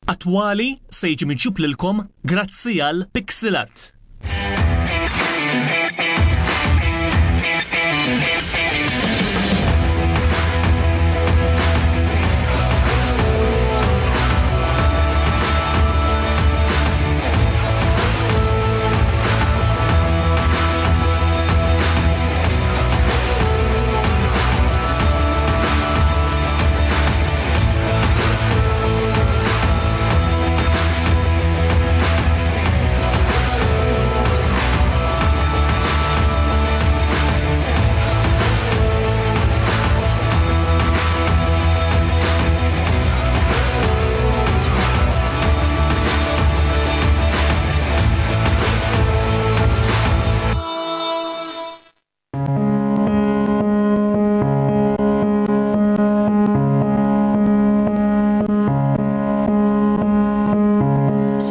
Attwali se jiġi miġjub lilkom grazzi għal Pixel Art.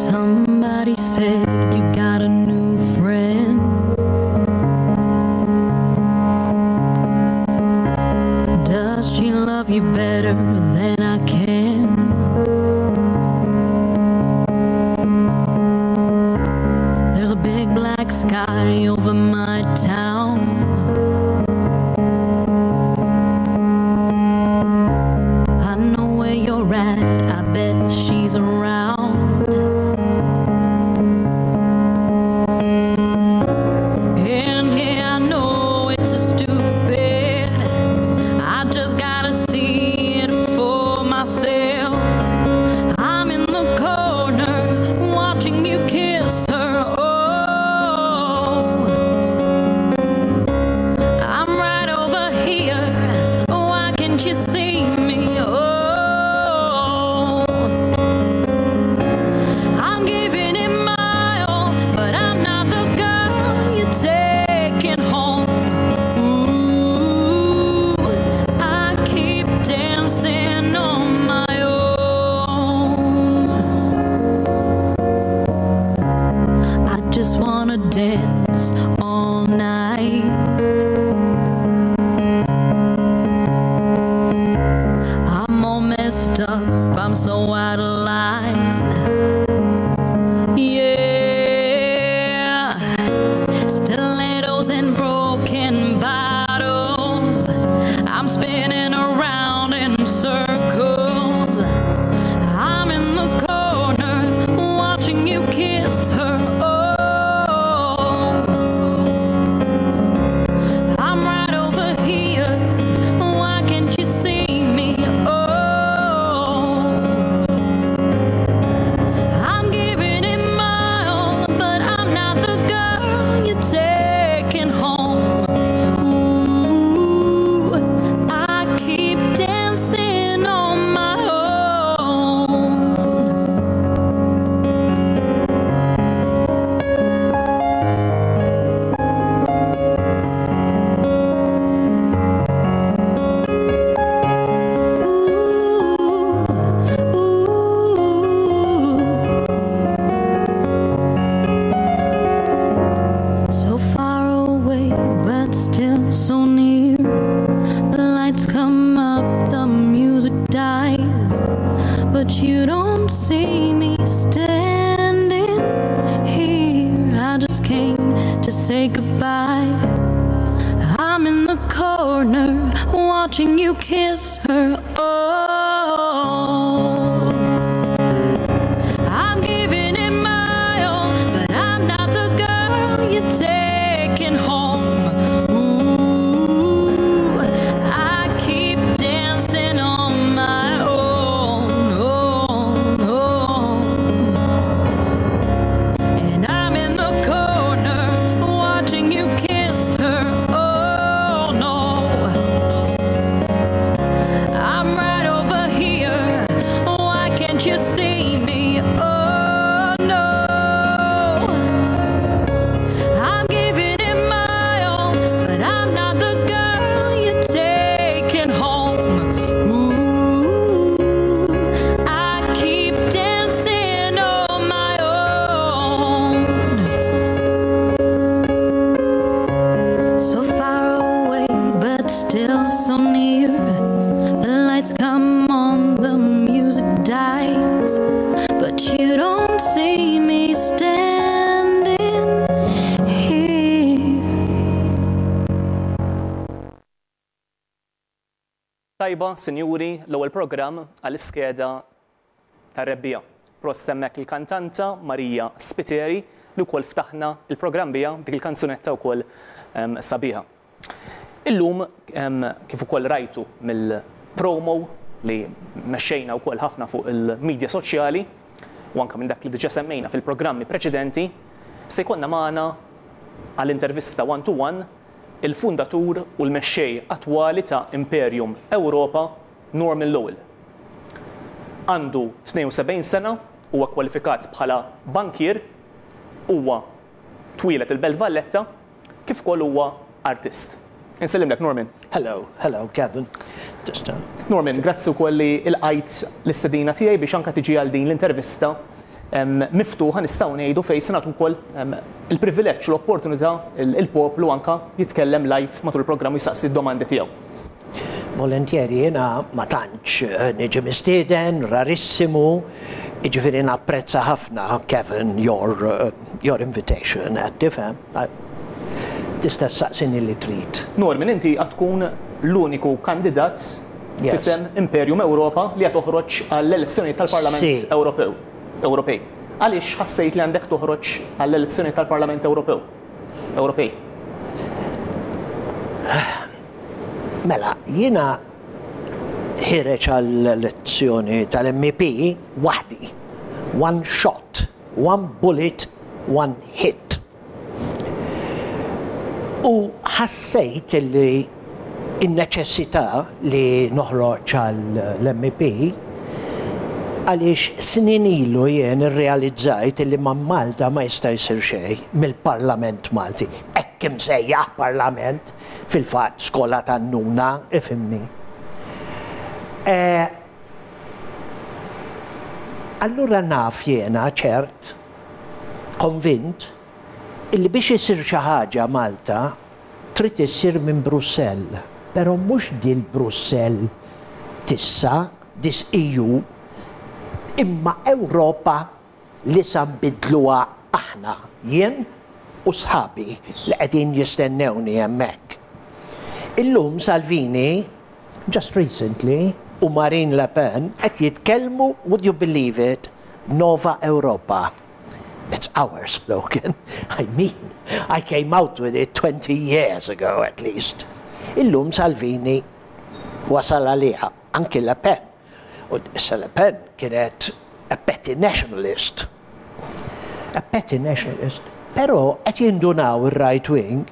Somebody said you got a new friend. Does she love you better than I can? There's a big black sky over my town. I know where you're at, I bet she's around. And yeah, I know it's a stupid. I just gotta see it for myself. I'm in the corner watching you kiss her. Oh, I'm right over here. Why can't you see me? Oh, I'm giving it my all, but I'm not the girl you're taking home. Ooh, I keep dancing on my own. I just wanna dance all night. I'm all messed up, I'm so out of line. Yeah, stilettos and broken bottles. I'm spinning around in circles. I'm in the corner watching you kiss her. Oh, I'm right over here. Why can't you see me? Oh, I'm giving it my all, but I'm not the girl you're taking home. Ooh, I keep dancing on my own. Ooh, ooh. So far away, but still so near. The lights come up, the music dies, but you don't see me standing here. I just came to say goodbye. I'm in the corner watching you kiss her. Oh, I'm giving it my all, but I'm not the girl you're taking home. Ooh, I keep dancing on my own. Oh, oh. And I'm in the corner watching you kiss her. Oh no, I'm right over here. Why can't you see me? Oh no, I'm giving it my all, but I'm not the girl you're taking home. Ooh, I keep dancing on my own. So far away, but still so near. The lights come on, the music dies, you don't see me standing here. Tajba, sinjuri, l-ewwel programm għall-iskeda tar-Rebbiegħa. Prost hemmhekk il-kantanta Maria Spiteri li wkoll ftaħna l-programm biha b'dik il-kanzunetta wkoll sabiħa. Illum kif ukoll rajtu mill-promo li mexxejna wkoll ħafna fuq il-midja soċjali u anke minn dak li diġà semmejna fil-programmi preċedenti, se jkollna magħna għal intervista one to one il-fundatur u l-mexxej attwali ta' Imperium Europa, Norman Lowell. Għandu 72 sena, huwa kwalifikat bħala bankier, huwa twieled il-Belt Valletta, kif ukoll huwa artist. Insellimlek Norman. Hello, hello Kevin. Just, uh... Norman, grazzi wkoll li lqajt l-istedina tiegħi biex anke tiġi għal din l-intervista miftuħa nistgħu ngħidu fejn se nagħtu wkoll il-privileġġ u l-opportunità il-poplu anke jitkellem live matul il-programm u jistaqsi d-domandi tiegħu. Volentieri, jiena ma tantx niġi mistieden, rarissimu, jiġifieri napprezza ħafna, Kevin, your, your invitation, qed tifhem? Tista' ssaqsini li trid. Norman, inti għad tkun l-uniku kandidat f'isem Imperium Europa li għad toħroġ għall-elezzjonijiet tal-Parlament Ewropew, Ewropej. Għaliex ħassejt li għandek toħroġ għall-elezzjonijiet tal-Parlament Ewropew, Ewropej? Mela, jiena ħiereġ għall-elezzjoni tal-MEP waħdi. One shot, one bullet, one hit. U ħassejt li n-neċessità li noħroġ għall-MEP għaliex snin ilu jien irrealizzajt li ma' Malta ma jista' jsir xejn mill-Parlament Malti. Hekk imsejjaħ Parlament. Fil-fatt, skola tan-nuna, ifhimni. Allura naf jiena ċert, konvint, illi biex isir xi ħaġa Malta trid issir minn Brussell, però mhux dil-Brussell t'issa, this EU, imma Ewropa li sa nbiddluha aħna, jien u sħabi li qegħdin jistennewni hemmhekk. Illum Salvini, just recently, u Marine Le Pen qed jitkellmu, would you believe it, Nova Europa. It's our slogan. I mean, I came out with it 20 years ago at least. Illum Salvini wasal għaliha, anki Le Pen. U issa Le Pen kienet a petty nationalist. A petty nationalist. Però qed jindunaw ir-right wing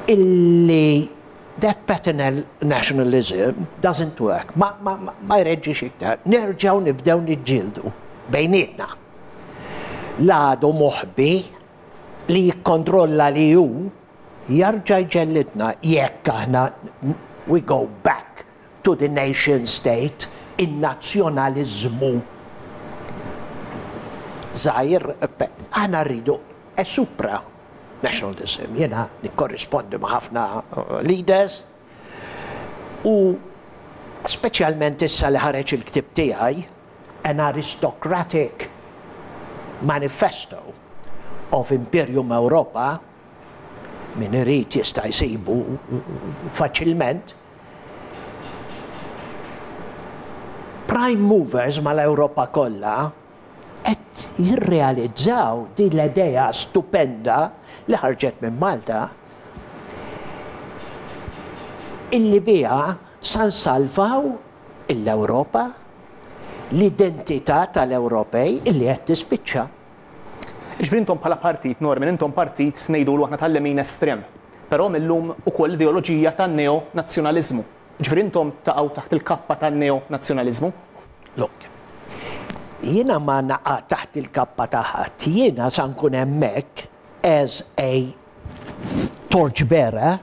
illi that petty nationalism doesn't work. Ma, ma, ma, ma jreġġix iktar. Nerġgħu nibdew niġġieldu bejnietna. L-għadu moħbi li jikkontrolla li hu jarġa' jġellidna jekk aħna we go back to the nation state, in-nazzjonaliżmu żgħir, aħna rridu a supra nationalism. Jiena nikkorrispondi ma' ħafna leaders u speċjalment issa li ħareġ il-ktieb tiegħi, An Aristocratic Manifesto of Imperium Europa, min irid jista' jsibu faċilment, prime movers mal-Ewropa kollha qed jirrealizzaw din l-idea stupenda li ħarġet minn Malta illi biha sa nsalvaw l-Ewropa, l-identità tal-Ewropej illi qed tispiċċa. Jiġifieri intom bħala partit, Norman, intom partit ngħidulu aħna tal-lemin estrem, però mil-lum ukoll l-ideoloġija tan-neo-nazzjonaliżmu. Jiġifieri intom taqgħu taħt il-kappa tan-neo-nazzjonaliżmu? Look, jiena ma naqa' taħt il-kappa ta' ħadd, jiena sa nkun hemmhekk as a torch bearer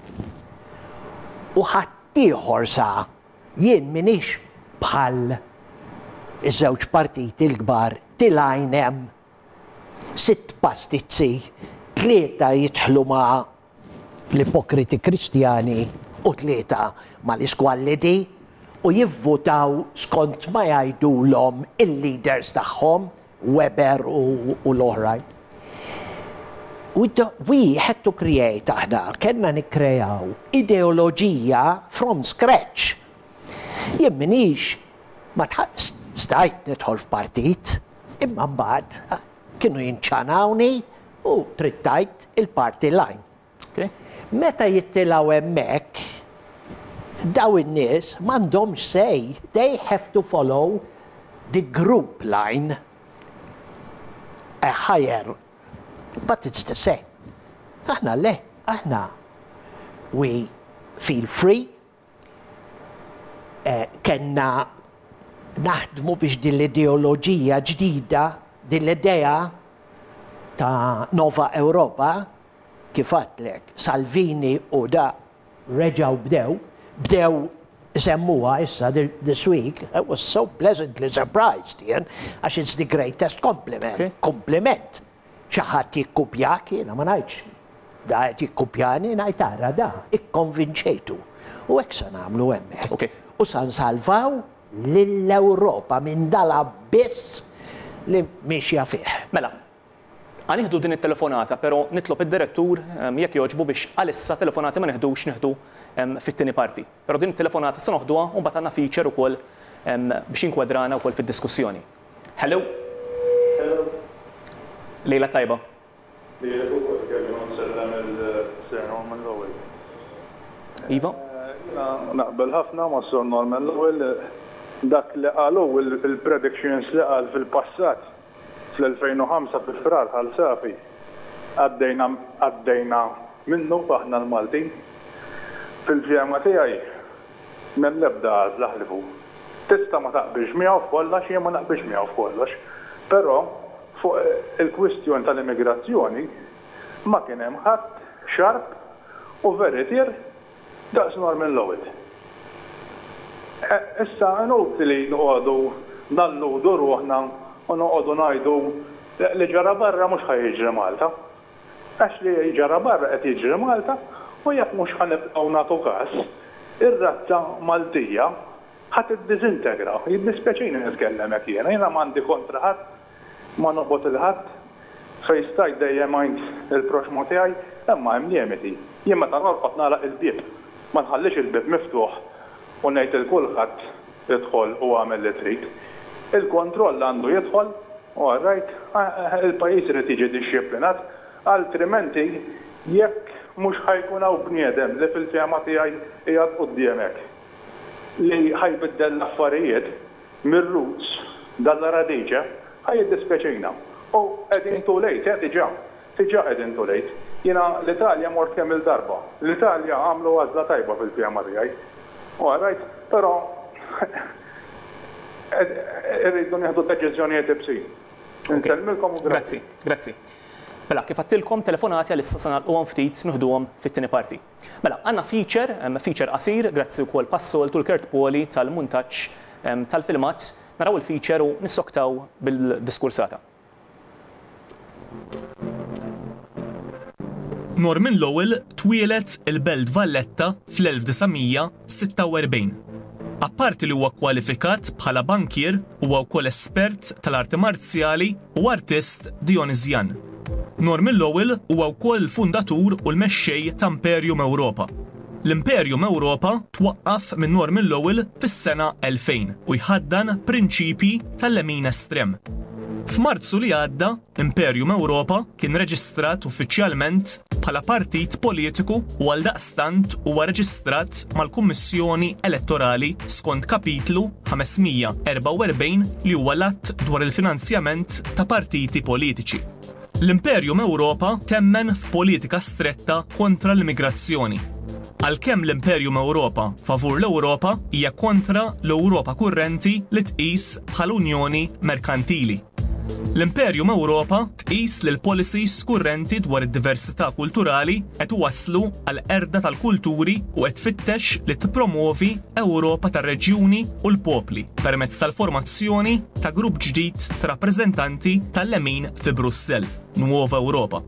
u ħaddieħor sa Jien m'iniex bħal iż-żewġ partiti l-kbar tilgħin hemm sitt pastizzi, tlieta jidħlu ma' l-ipokriti Kristjani u tlieta mal-iskwallidi. u jivvutaw skont ma jgħidulhom il-leaders tagħhom, Weber u l-oħrajn. We, we had to create aħna, kellna nikkrejaw ideoloġija from scratch. Jien minix ma stajt nidħol f'partit, imma mbagħad kienu jinċanawni u trid tgħid il-party line. Meta jittilgħu hemmhekk, daw in-nies m'għandhomx say, they have to follow the group line. A higher, but it's the same. Aħna le, aħna we feel free, eh, kellna naħdmu biex din l-ideoloġija ġdida, din l-idea ta' Nova Europa, kif għedtlek, Salvini u da reġaw bdew, bdew semmuha issa this week, I was so pleasantly surprised, jien, għax it's the greatest compliment. Okay. Compliment. Xi ħadd jikkupjak, jiena ma ngħidx. Da qed jikkupjani, ngħid ara da, ikkonvinċejtu. U hekk se nagħmlu hemmhekk. Okay. U sa nsalvaw lill-Ewropa minn dal-abbiss li miexja fih. Mela, ħa nieħdu din it-telefonata, pero nitlob id-direttur jekk jogħġbu biex għalissa telefonati ma neħdux nieħdu fit-tieni parti. Pero din it-telefonata se noħduha u mbagħad għandna feature ukoll biex inkwadrana wkoll fid-diskussjoni. Hello. Hello. Lejla tajba. Lejla ukoll kelli nsellem il-Sir Norman Lowell. Iva? Jiena naqbel ħafna ma' Sir Norman Lowell dak li qalu il-predictions li qal fil-passat fl-2005 fi Frar Ħal Safi għaddejna għaddejna minnu aħna l-Maltin. Fil-fehma tiegħi m'hemm l-ebda għażla ħlifu. Tista' ma taqbilx miegħu f'kollox, jien ma naqbilx miegħu f'kollox, però fuq il-kwistjoni tal-immigrazzjoni ma kien hemm ħadd sharp u veritier daqs Norman Lowell. Issa inutli noqogħdu nalludu ruħna u noqogħdu ngħidu li ġara barra mhux ħa jiġri Malta. Għax li ġara barra qed jiġri Malta u jekk mhux ħa nibqgħu nagħtu każ, ir-razza Maltija ħa tiddiżintegra. Jiddispjaċini nitkellem hekk jiena, jiena m'għandi kontra ħadd, ma nobgħod 'il ħadd, fejn stajt dejjem għint il-proxxmu tiegħi, imma hemm limiti. Jien meta norqod nagħlaq il-bieb, ma nħallix il-bieb miftuħ u ngħid lil kulħadd idħol u agħmel li trid. Il-kontroll għandu jidħol, all right, il-pajjiż irid jiġi dixxiplinat, altrimenti jekk mhux ħa jkun hawn bniedem li fil-fehma tiegħi qiegħed quddiemek li ħa jbiddel l-affarijiet mir-roots dalla radice, ħa jiddispjaċina. U qegħdin too late, eh, diġà. Diġà qegħdin too late. Jiena l-Italja mort kemm-il darba. L-Italja għamlu għażla tajba fil-fehma tiegħi. All right, però irridu nieħdu deċiżjonijiet ibsin. Insellmilkom u grazzi. Grazzi, grazzi. Mela, kif għedtilkom telefonati għalissa se nagħlquhom ftit nieħduhom fit-tieni parti. Mela, għandna feature, feature qasir, grazzi wkoll bħas-soltu l-Kurt Poli tal-muntaġġ tal-filmat. Naraw il-feature u nissoktaw bil-diskursata. Norman Lowell twieled il-Belt Valletta fl-1946. Apparti li huwa kwalifikat bħala bankier, huwa wkoll espert tal-arti marzjali u artist Dionisian. Norman Lowell huwa wkoll il-fundatur u l-mexxej ta' Imperium Europa. L-Imperium Europa twaqqaf minn Norman Lowell fis-sena 2000 u jħaddan prinċipji tal-lemin estrem. F'Marzu li għadda, Imperium Europa kien reġistrat uffiċjalment bħala partit politiku u għaldaqstant huwa reġistrat mal-Kummissjoni Elettorali skont Kapitlu 544 li huwa l-Att dwar il-Finanzjament ta' Partiti Politiċi. L-Imperium Europa temmen f'politika stretta kontra l-immigrazzjoni. Għalkemm l-Imperium Europa favur l-Ewropa hija kontra l-Ewropa kurrenti li tqis bħala unjoni merkantili. L-Imperium Europa tqis li l-policies kurrenti dwar id-diversità kulturali qed iwasslu għal qerda tal-kulturi u qed tfittex li tippromovi Ewropa tar-reġjuni u l-popli permezz tal-formazzjoni ta' grupp ġdid ta' rappreżentanti tal-lemin fi Brussell, Nuova Europa.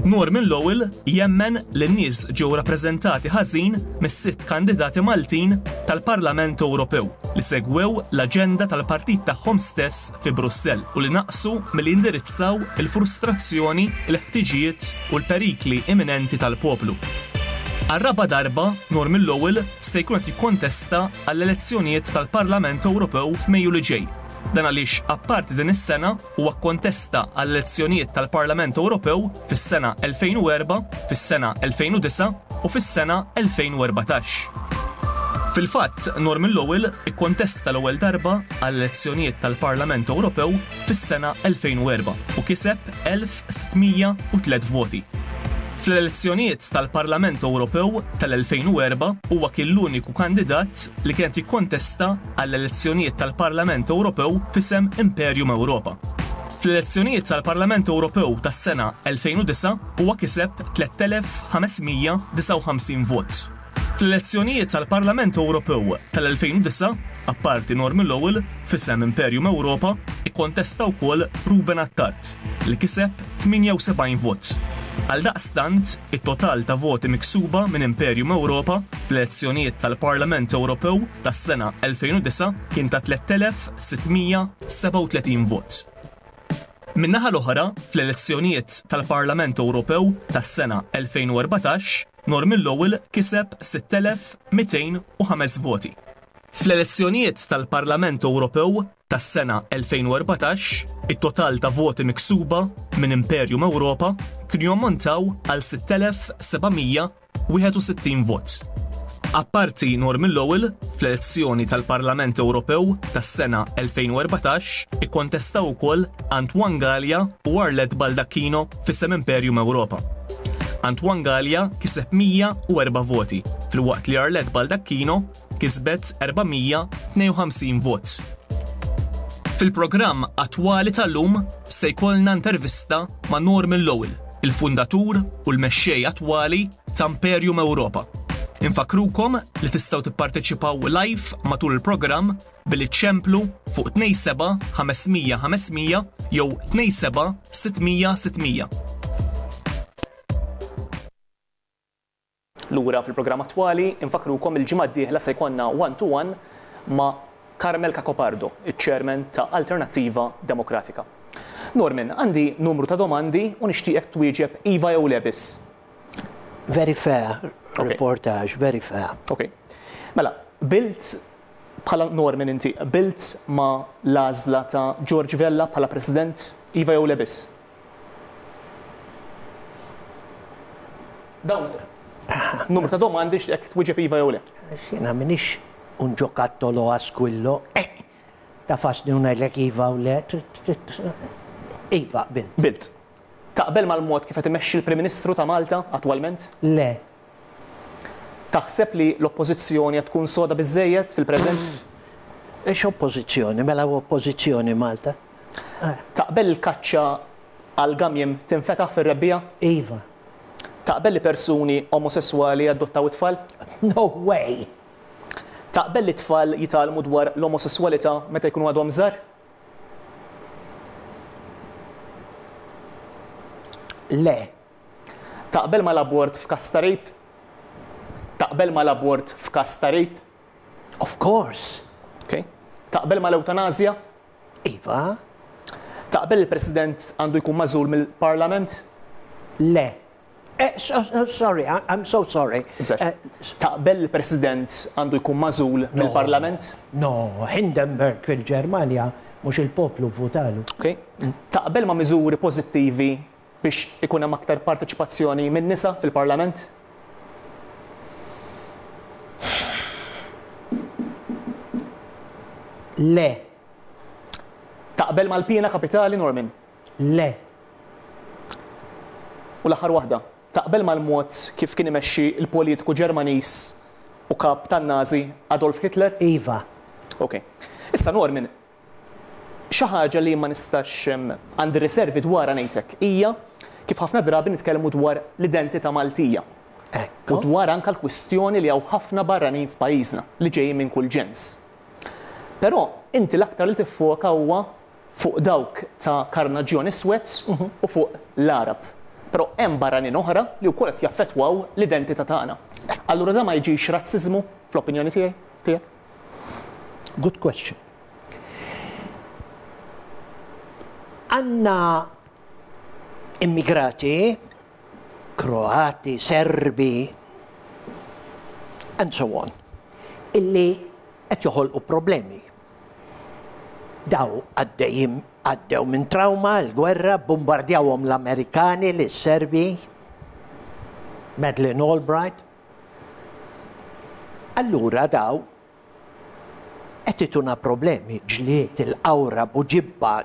Norman Lowell jemmen li n-nies ġew rappreżentati ħażin mis-sitt kandidati Maltin tal-Parlament Ewropew li segwew l-aġenda tal-partit tagħhom stess fi Brussell u li naqsu milli jindirizzaw il-frustrazzjoni, il-ħtiġijiet u l-perikli imminenti tal-poplu. Għar-raba' darba, Norman Lowell se jkun qed jikkontesta għall-elezzjonijiet tal-Parlament Ewropew f'Mejju li ġej. Dan għaliex apparti din is-sena, Huwa kkontesta għall-elezzjonijiet tal-Parlament Ewropew fis-sena 2004, fis-sena 2009 u fis-sena 2014. Fil-fatt, Norman Lowell ikkontesta l-ewwel darba għall-elezzjonijiet tal-Parlament Ewropew fis-sena 2004 u kiseb 1,603 voti. Fl-elezzjonijiet tal-Parlament Ewropew tal-2004 huwa kien l-uniku kandidat li kien qed jikkontesta għall-elezzjonijiet tal-Parlament Ewropew f'isem Imperium Europa. Fl-elezzjonijiet tal-Parlament Ewropew tas-sena 2009 huwa kiseb 3,559 vot. Fl-elezzjonijiet tal-Parlament Ewropew tal-2009, apparti Norman Lowell, f'isem Imperium Europa, ikkontesta wkoll Ruben Attard, li kiseb 78 vot. Għaldaqstant, it-total ta' voti miksuba minn Imperium Europa fl-elezzjonijiet tal-Parlament Ewropew tas-sena 2009 kien ta' 3,637 vot. Min-naħa l-oħra, fl-elezzjonijiet tal-Parlament Ewropew tas-sena 2014, Norman Lowell kiseb 6,205 voti. Fl-elezzjonijiet tal-Parlament Ewropew tas-sena 2014, it-total ta' voti miksuba minn Imperium Europa kienu jammontaw għal 6,761 vot. Apparti Norman Lowell, fl-elezzjoni tal-Parlament Ewropew tas-sena 2014 ikkontestaw ukoll Antoine Galea u Arlette Baldacchino f'isem Imperium Europa. Antoine Galea kiseb 104 voti, filwaqt li Arlette Baldacchino kisbet 452 vot. Fil-programm attwali tal-lum se jkollna intervista ma' Norman Lowell, il-fundatur u l-mexxej attwali ta' Imperium Europa. Infakkrukom li tistgħu tipparteċipaw live matul il-programm billi ċċemplu fuq 27 500 500 jew 27 600 600. Lura fil-programm attwali, infakkrukom il-ġimgħa d-dieħla se jkollna one to one ma' Carmel Cacopardo, iċ-Chairman ta' Alternattiva Demokratika. Norman, għandi numru ta' domandi u nixtieqek twieġeb iva jew le biss. Very fair reportage, very fair. Ok. Mela, qbilt bħala Norman inti qbilt ma' l-għażla ta' George Vella bħala President, iva jew le biss? Dawn numru ta' domandi nixtieqek twieġeb iva jew le. Għax jiena m'iniex un giocattolo a squillo, eh! Tafasni u ngħidlek iva u le, iva qbilt. Qbilt. Taqbel mal-mod kif qed imexxi l-Prim Ministru ta' Malta attwalment? Le. Taħseb li l-Oppożizzjoni qed tkun soda biżżejjed fil-preżent? X'oppożizzjoni? Mela hawn oppożizzjoni Malta? Taqbel il-kaċċa għall-gamiem tinfetaħ fir-rebbiegħa? Iva. Taqbel li persuni omosesswali jadottaw it-tfal? No way! Taqbel li t-tfal jitgħallmu dwar l-omosesswalità meta jkunu għadhom żgħar? Le. Taqbel mal-abort f'każ ta' rape? Taqbel mal-abort f'każ ta' rape? Of course. Ok. Taqbel mal-ewtanasja? Iva. Taqbel il-President għandu jkun magħżul mill-Parlament? Le. Eh, sorry, I'm so sorry. Eh, Taqbel il-President għandu jkun magħżul mill-Parlament? No, Hindenburg fil-Ġermanja mhux il-poplu vvutalu. Ok. Taqbel ma' miżuri pożittivi biex ikun hemm aktar parteċipazzjoni min-nisa fil-Parlament? Le. Taqbel mal-piena kapitali, Norman? Le. U l-aħħar waħda, taqbel mal-mod kif kien imexxi l-politiku Ġermaniż u kap tan-Nazi Adolf Hitler? Iva. Ok. Issa Norman, xi ħaġa li ma nistax għandi riservi dwarha ngħid hekk hija kif ħafna drabi nitkellmu dwar l-identità Maltija. U dwar anke l-kwistjoni li hawn ħafna barranin f'pajjiżna li ġejjin minn kull ġens. Però inti l-aktar li tiffoka huwa fuq dawk ta' karnaġġjon iswed u fuq l-Għarab. Però hemm barranin oħra li wkoll qed jaffettwaw l-identità tagħna. Allura dan ma jiġix razziżmu fl-opinjoni tiegħi, tiegħek? Good question. Għandna immigrati Kroati, Serbi, and so on, illi qed joħolqu problemi. Daw għaddejjin għaddew minn trawma, l-gwerra, bombardjawhom l-Amerikani, lis-Serbi, Madeleine Albright. Allura daw qed ituna problemi, ġlied, il-qawra, Buġibba,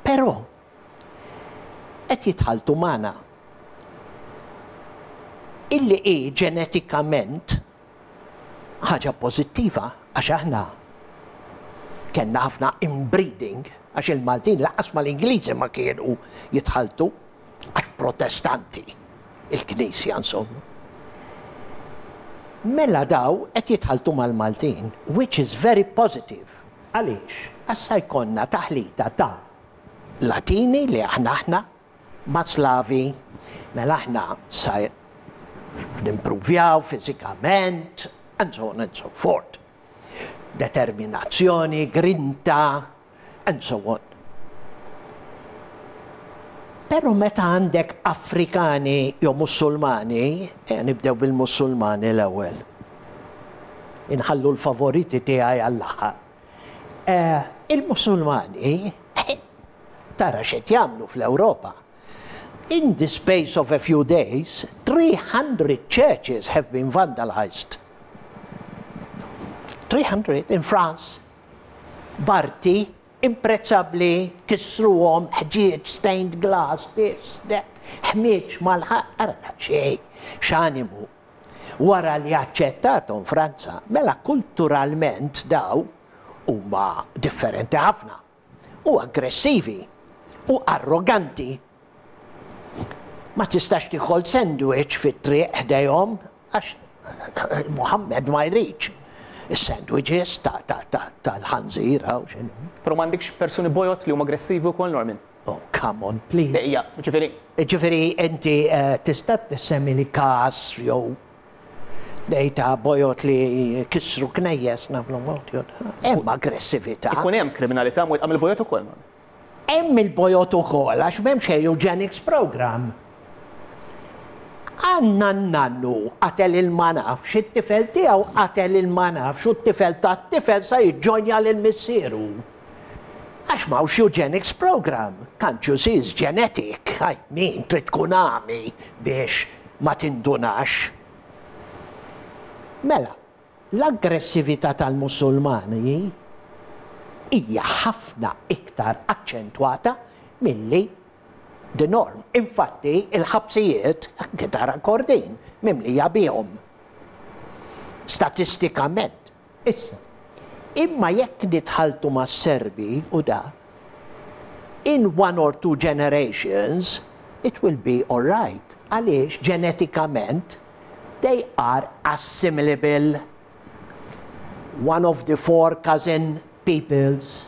però qed jitħalltu magħna. Illi hi ġenetikament ħaġa pożittiva għax aħna kellna ħafna inbreeding għax il-Maltin lanqas mal-Ingliżi ma kienu jitħalltu għax Protestanti, il-Knisja insomma. Mela daw qed jitħalltu mal-Maltin, which is very positive. Għaliex? Għax sa jkollna taħlita ta' Latini li aħna aħna ma' Slavi, mela aħna sa nimpruvjaw fiżikament, and so on and so forth. Determinazzjoni, grinta, and so on. Però meta għandek Afrikani jew Musulmani, ejja nibdew bil-Musulmani l-ewwel. Inħallu l-favoriti tiegħi għall-aħħar. Il-Musulmani tara x'qed jagħmlu fl-Ewropa. In the space of a few days, 300 churches have been vandalized. 300 in France. B'arti imprezzabbli kissruhom, ħġieġ, stained glass, this, that, ħmieġ mal-ħajt, ara xejn, x'animu. Wara li aċċettathom Franza, mela kulturalment daw huma differenti ħafna u aggressivi u arroganti. Ma tistax tiekol sandwich fit-triq ħdejhom għax Muhammad ma jridx is-sandwiches tal-ħanżir hawn x'inhu. Però m'għandikx persuni bojod li huma aggressivi wkoll, Norman? Oh, come on, please. Ejja, ġifieri. Ġifieri inti tista' tissemmili każ jew dejta bojod li kissru knejjes nagħmlu mod jew hemm aggressività. Ikun hemm kriminalità mwettqa mill-bojod ukoll. Hemm il-bojod ukoll għax m'hemmx eugenics program. Għandna n-nannu qatel il ma nafx, it-tifel tiegħu qatel il ma nafx u t-tifel tat-tifel sa jiġġonja lil missieru. Għax m'hawnx eugenics program. Can't you see it's genetic? I mean, trid tkun għami biex ma tindunax. Mela, l-aggressività tal-Musulmani hija ħafna iktar aċċentwata milli the norm. Infatti, il-ħabsijiet, anke tara Kordin, mimlija bihom. Statistikament. Issa, imma jekk nitħalltu mas-Serbi u da, in one or two generations it will be all right. Għaliex ġenetikament they are assimilable. One of the four cousin peoples,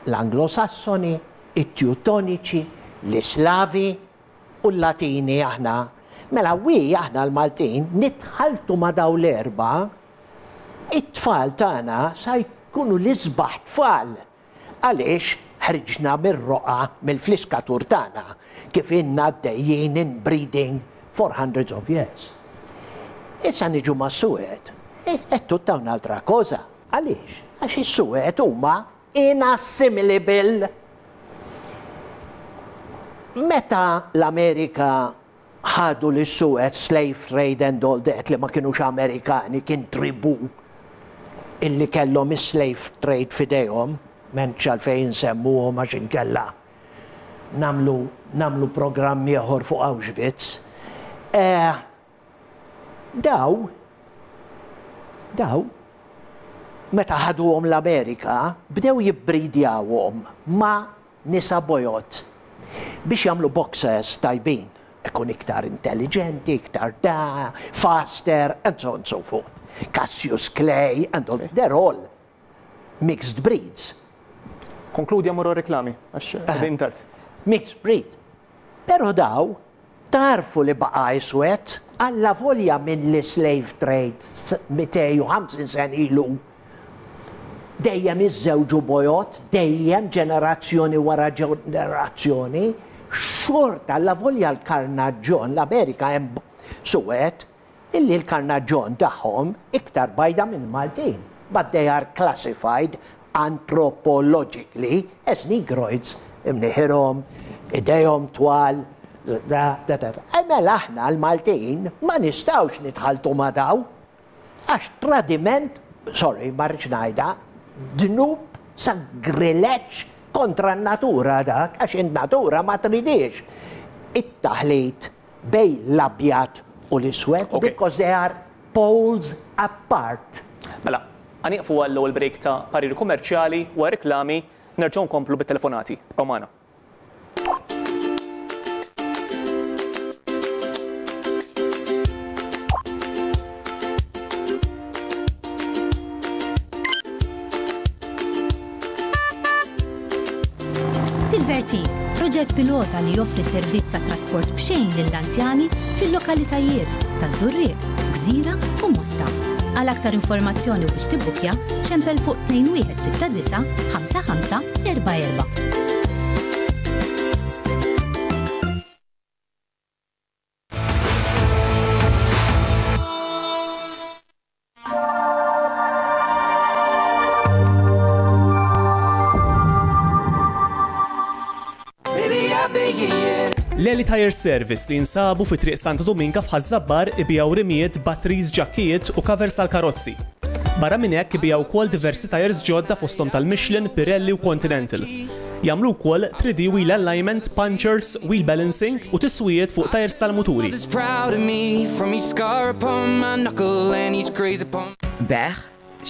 l-Anglo-Sassoni, it-Teutoniċi, l-Islavi u l-Latini aħna. Mela we aħna l-Maltin nitħalltu ma' dawn l-erba' It-tfal tagħna sa jkunu l-isbaħ tfal għaliex ħriġna mir-roqgħa mill-fliskatur tagħna kif ilna għaddejjin inbreeding for hundreds of years. Issa niġu mas-Suwed, è tutta un'altra cosa. Għaliex? Għax is-Suwed huma inassimilable. Meta l-Amerika ħadu lis-Suez, slave trade and all that, li ma kinux Amerikani, kien tribù illi kellhom is-slave trade f'idejhom, m'hemmx għalfejn insemmuhom għax inkella nagħmlu nagħmlu programm ieħor fuq Auschwitz. Eh, daw daw meta ħaduhom l-Amerika bdew jibbridjawhom ma' nisa bojod biex jagħmlu boxers tajbin, ikun iktar intelliġenti, iktar da, faster, and so on and so forth. Cassius Clay, and all, they're all mixed breeds. Konkludi għamur reklami, għax qegħdin tard. Mixed breed. Però daw tgħarrfu li baqa' iswed allavolja minn l-slave trade 250 sena ilu dejjem iżżewġu bojod, dejjem ġenerazzjoni wara ġenerazzjoni, xorta allavolja l-karnaġġon, l-Amerika hemm suwed, illi l-karnaġġon tagħhom iktar bajda mill-Maltin, but they are classified anthropologically as Negroids, imnieħirhom, idejhom twal, da, da, da. E mela aħna l-Maltin ma nistgħux nitħalltu ma' daw, għax tradiment, sorry, ma rridx ngħidha, dnub sagrileġġ kontra n-natura dak, għax in-natura ma tridix it-taħlit bejn l-abjad u l-iswed because they are poles apart. Mela, ħa nieqfu għall-ewwel break ta' pariri kummerċjali u għar-riklami nerġgħu nkomplu bit-telefonati. Ibqgħu magħna. Silver T, proġett pilota li joffri servizz ta' trasport b'xejn lill-anzjani fil-lokalitajiet ta' Żurrieq, Gżira u Mosta. Għal aktar informazzjoni u biex tibbukja, ċempel fuq 2169 5544. L-Eli Tire Service li jinsabu fi Triq Santo Dominga f'Ħaż-Żabbar ibigħu rimijiet, batteries, ġakkijiet u covers għall-karozzi. Barra minn hekk ibigħu wkoll diversi tires ġodda fosthom tal-Michelin, Pirelli u Continental. Jagħmlu wkoll 3D wheel alignment, punctures, wheel balancing u tiswijiet fuq tyres tal-muturi. Bejgħ,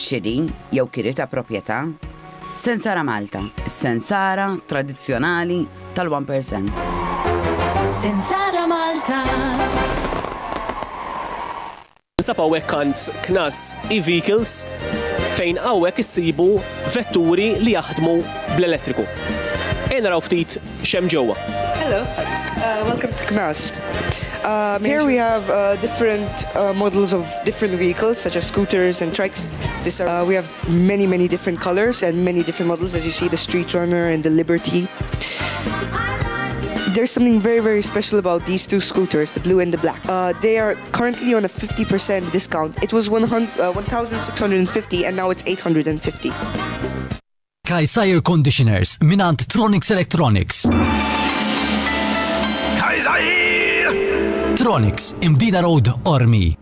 xiri jew kiri ta' proprjetà? Sensara Malta, is-sensara tradizzjonali tal-1%. Sensara Malta. Ninsab hawnhekk għand Knas e-Vehicles fejn hawnhekk issibu vetturi li jaħdmu bl-elettriku. Ejja naraw ftit x'hemm ġewwa. Hello, uh, welcome to Knas. Um, here we have uh, different uh, models of different vehicles, such as scooters and trikes. This are, uh, we have many, many different colors and many different models, as you see the Street Runner and the Liberty. There's something very, very special about these two scooters, the blue and the black. Uh, they are currently on a 50% discount. It was 100, uh, 1,650 and now it's 850. Kajsa Air Conditioners mingħand Tronics Electronics. Tronics, Imdina Road, Qormi.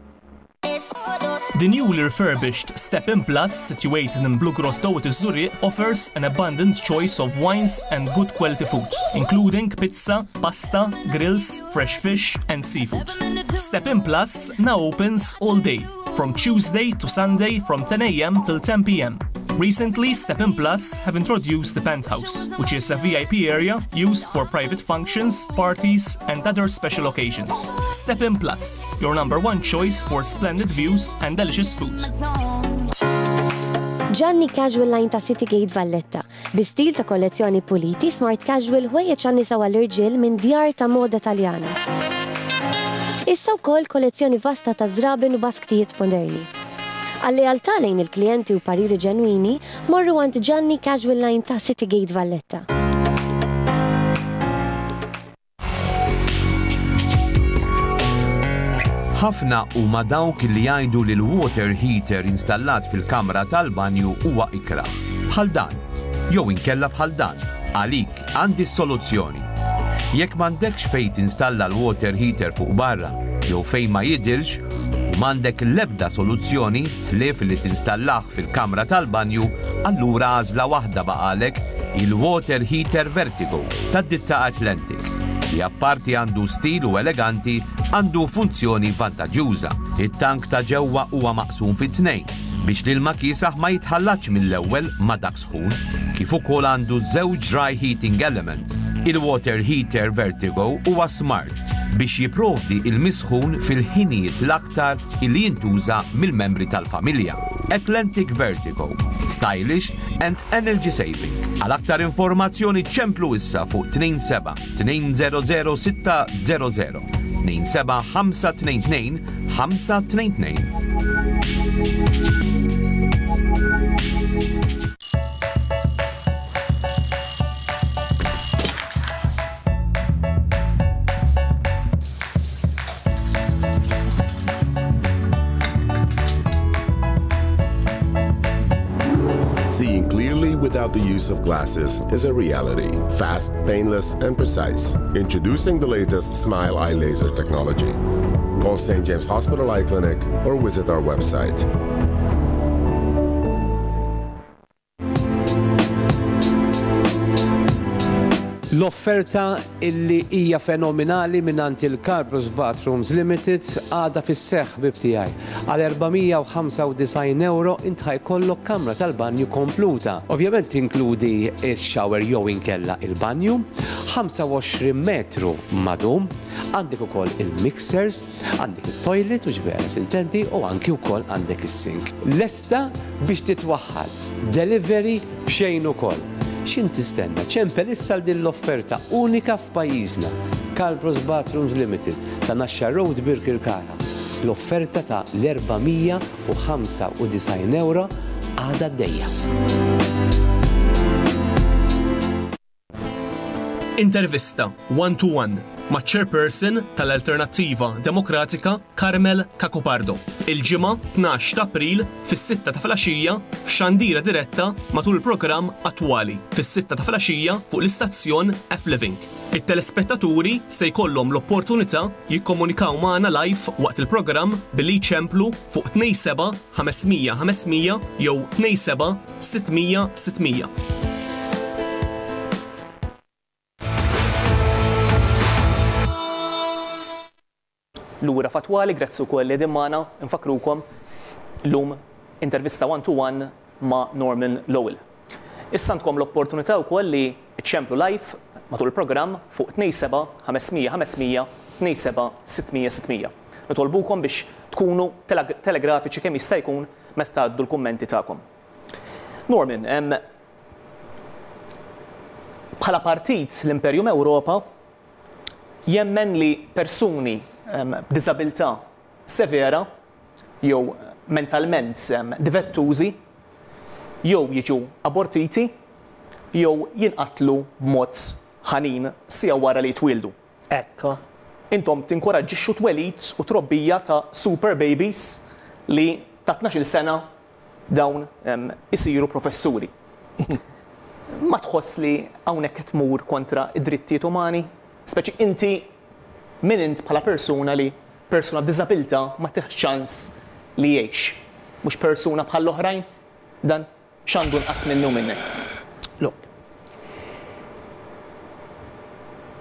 The newly refurbished Step In Plus, situated in Blue Grotto at Zurich, offers an abundant choice of wines and good quality food, including pizza, pasta, grills, fresh fish, and seafood. Step In Plus now opens all day, from Tuesday to Sunday from 10 a.m. till 10 p.m. Recently, Step In Plus have introduced the Penthouse, which is a VIP area used for private functions, parties, and other special occasions. Step In Plus, your number one choice for splendid views and delicious food. Gianni Casual Line ta' City Gate Valletta, bi stil ta' kollezzjoni puliti, smart casual, ħwejjeġ għan-nisa u għall-irġiel minn djar ta' moda Taljana. Issa wkoll kollezzjoni vasta ta' żraben u basktijiet moderni. Għal-lealtà lejn il-klijenti u pariri ġenwini, morru għand Gianni Casual Line ta' City Gate Valletta. Ħafna huma dawk li jgħidu li l-water heater installat fil-kamra tal-banju huwa ikrah. Bħal dan, jew inkella bħal dan. Għalik għandi s-soluzzjoni. Jekk m'għandekx fejn tinstalla l-water heater fuq barra jew fejn ma jidhirx u m'għandek l-ebda soluzzjoni ħlief li tinstallah fil-kamra tal-banju, allura għażla waħda baqalek, il-water heater Vertigo tad-ditta Atlantic, li apparti għandu stil u eleganti, għandu funzjoni vantaġġjuża. It-tank ta' ġewwa huwa maqsum fi tnejn biex l-ilma kiesaħ ma jitħallatx mill-ewwel ma' dak sħun, kif ukoll għandu żewġ dry heating elements. Il-water heater Vertigo huwa smart biex jipprovdi il-misħun fil-ħinijiet l-aktar illi jintuża mill-membri tal-familja. Atlantic Vertigo. Stylish and energy saving. Għal aktar informazzjoni ċemplu issa fuq 27 200 600 27 522 522. Seeing clearly without the use of glasses is a reality. Fast, painless, and precise. Introducing the latest Smile Eye Laser technology. Call St. James Hospital Eye Clinic or visit our website. L-offerta illi hija fenominali mingħand il-Carbros Bathrooms Limited għadha fis-seħħ ħbieb tiegħi. Għal 495 ewro int ħa jkollok kamra tal-banju kompluta. Ovvjament tinkludi x-shower jew inkella il-banju, 25 metru madum, għandek ukoll il-mixers, Għandek it-toilet u ġbera sintendi u anki wkoll għandek is-sink. Lesta biex titwaħħal. Delivery b'xejn ukoll. X'int tistenna? Ċempel issa għal din l-offerta unika f'pajjiżna. Calbros Bathrooms Limited ta' Naxxar Road Birkirkara. L-offerta ta' l-495 ewro għadha għaddejja. Intervista One to One maċ-Chairperson tal-Alternattiva Demokratika Carmel Cacopardo, il-Ġimgħa 12 ta' April fis-sitta ta' filgħaxija f'xandira diretta matul il-programm Attwali fis-sitta ta' filgħaxija fuq l-istazzjon F-Living. It-telespettaturi se jkollhom l-opportunità jikkomunikaw magħna live waqt il-programm billi jċemplu fuq 27 500 500 jew 27 600 600. Lura f'Attwali, grazzi wkoll li qegħdin magħna, infakkrukom llum intervista one to one ma' Norman Lowell. Issa għandkom l-opportunità wkoll li ċċemplu live matul il-programm fuq 27 500 500 27 600 600. Nitolbukom biex tkunu telegrafiċi kemm jista' jkun meta tgħaddu l-kummenti tagħkom. Norman, bħala partit l-Imperium Ewropa jemmen li persuni b'diżabilità severa jew mentalment difettużi jew jiġu abortiti jew jinqatlu b'mod ħanin siegħa wara li jitwieldu. Ekku. Intom tinkoraġġixxu twelid u trobbija ta' super babies li ta' 12-il sena dawn isiru professuri. Ma tħoss li hawnhekk qed tmur kontra d-drittijiet umani? Speċi inti min int bħala persuna li persuna b'diżabilità ma tihx ċans li jgħix? Mhux persuna bħall-oħrajn dan? X'għandu nqas minni u minnek? Look.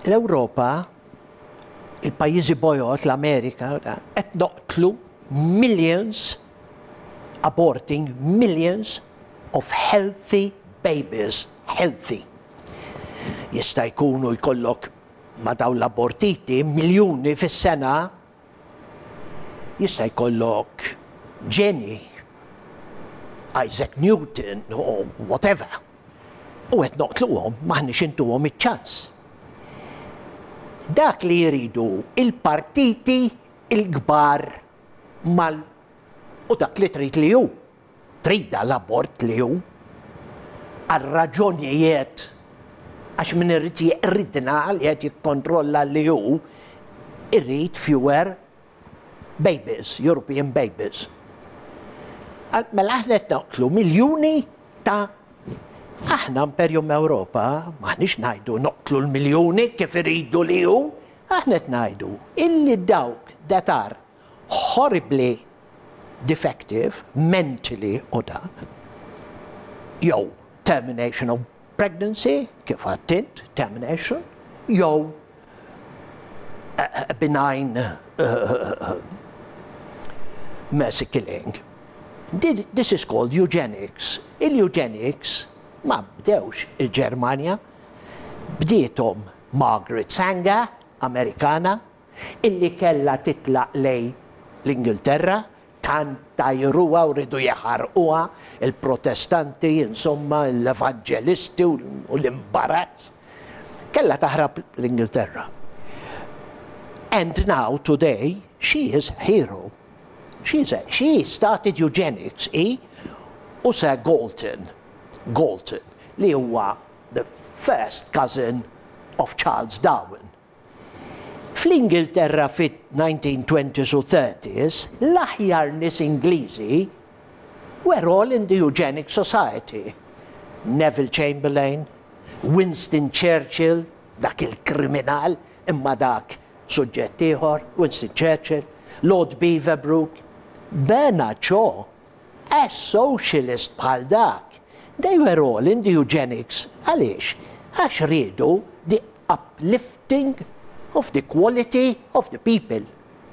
L-Ewropa, il-pajjiżi bojod, l-Amerika, qed noqtlu millions, aborting millions of healthy babies, healthy. Jista' jkunu jkollok ma' dawn l-abortiti miljuni fis-sena Jista' jkollok ġenji, Isaac Newton u whatever, u qed noqtluhom, m'aħniex intuhom iċ-ċans. Dak li jridu il-partiti l-kbar mal u dak li trid li hu. Tridha l-abort li hu għal raġunijiet għax min irid jeqridna li qed jikkontrolla li hu irid fewer babies, European babies. Mela aħna qed noqtlu miljuni ta' aħna Imperium Ewropa m'aħniex ngħidu noqtlu l-miljuni kif iridu li hu, aħna qed ngħidu illi dawk that are horribly defective mentally u dak, jew termination of pregnancy, kif għedt int, termination, jew a benign mercy killing. This is called eugenics. Il-eugenics ma bdewx il-Ġermanja, bdiethom Margaret Sanger, Amerikana, illi kellha titlaq lejn l-Ingilterra, tant għajruha u riedu jaħarquha, il-Protestanti, insomma, l-Evanġelisti u l-imbarazz. Kellha taħrab l-Ingilterra. And now, today, she is hero. She is a, she started eugenics, hi u Sir Galton, Galton, li huwa the first cousin of Charles Darwin. Fl-Ingilterra fit-1920s u 30s, l-aħjar nies Ingliżi were all in the Eugenic Society. Neville Chamberlain, Winston Churchill, dak il-kriminal, imma dak suġġett ieħor, Winston Churchill, Lord Beaverbrook, Bernard Shaw, a socialist bħal dak. They were all in the eugenics. Għaliex? Għax riedu the uplifting of the quality of the people.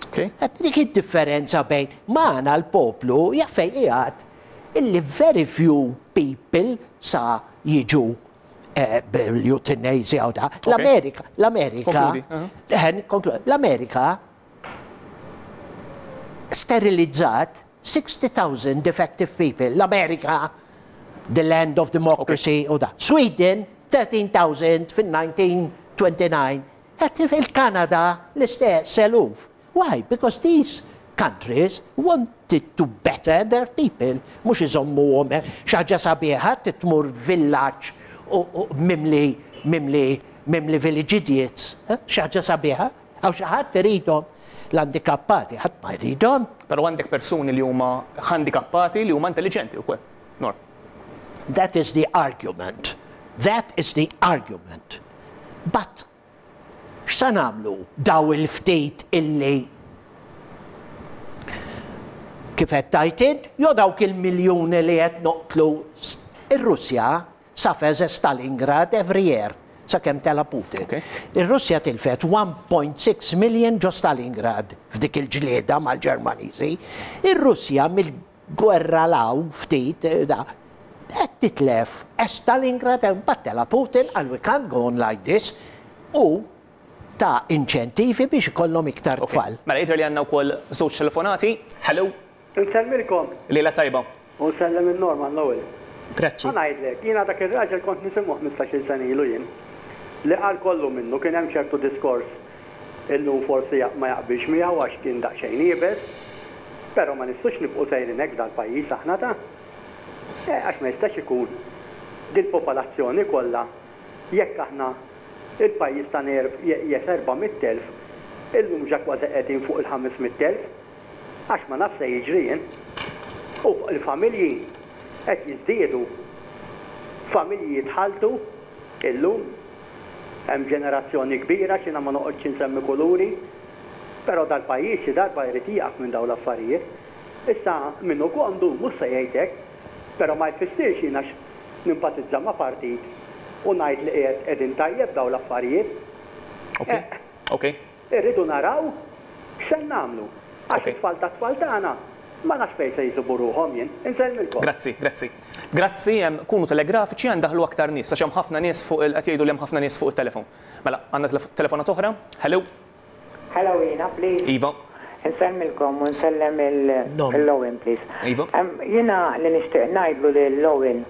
Dik id-differenza bejn magħna l-poplu jaf fejn qiegħed illi very few people sa jiġu bil-euthanasia u da. L-Amerika, l-Amerika, l-Amerika sterilizzat 60,000 defective people. L-Amerika, the land of democracy u da. Sweden, 13,000 fin-1929. Il-Kanada l-istess, eluf. Why? Because these countries wanted to better their people, mhux iżommuhom xi ħaġa sabiħa tmur villaġġ u mimli mimli mimli village idiots. Xi ħaġa sabiħa? Hawn xi ħadd iridhom l-handikappati, ħadd ma jridhom. Però għandek persuni li huma handikappati li huma intelliġenti wkoll. Norm. That is the argument. That is the argument. But X'sa nagħmlu daw il-ftit illi kif qed tgħid int, jew dawk il-miljuni li qed noqtlu Ir-Russja suffers a Stalingrad every year sakemm tela' Putin. Ir-Russja tilfet 1.6 million ġo Stalingrad f'dik il-ġlieda mal-Ġermaniżi. Ir-Russja mill Gwerra 'l hawn ftit da qed titlef għax Stalingrad hemm mbagħad tela' Putin qal we can't go on like this u ta inċentivi biex ikollhom iktar tfal. Mela jidher li għandna wkoll żewġ telefonati. Hello. Insellmilkom. Lejla tajba. U nsellem lil Norman l-ewwel. Grazzi. Ħa ngħidlek, jiena dak ir-raġel kont nisimgħu ħmistax-il sena ilu jien. Li qal kollu minnu, kien hemm ċertu diskors Illum forsi ma jaqbilx miegħu għax kien daqsxejn iebes, però ma nistgħux nibqgħu sejrin hekk f'dal-pajjiż aħna ta'. Eh, għax ma jistax ikun dil-popolazzjoni kollha jekk aħna il-pajjiż tagħna jesa' 400,000, illum ġa kważi qegħdin fuq il-500,000. Għax ma nafx se jiġri jien. U l-familji qed jiżdiedu. Familji jitħalltu illum. Hemm ġenerazzjoni kbira, għax jiena ma noqgħodx insemmi kuluri, però dal-pajjiż xi darba jrid jieqaf minn dawn l-affarijiet. Issa min hu komdu mhux se jgħid hekk, però ma jfissirx jien għax nimpatizza ma' partit u ngħid li qiegħed qegħdin tajjeb dawn l-affarijiet. Ok. Irridu naraw x'se nagħmlu għax it-tfal tat-tfal tagħna ma nafx fejn se jsibu ruħhom jien. Insellmilkom. Grazzi, grazzi. Grazzi, kunu telegrafiċi ħa ndaħħlu aktar nies għax hemm ħafna nies fuq il qed jgħidu li hemm ħafna nies fuq it-telefon. Mela, għandna telefonata oħra? Hello? Hello jiena please. Iva. Insellmilkom u nsellem il Owen please. Iva. Jiena li nixtieq ngħidlu lil Owen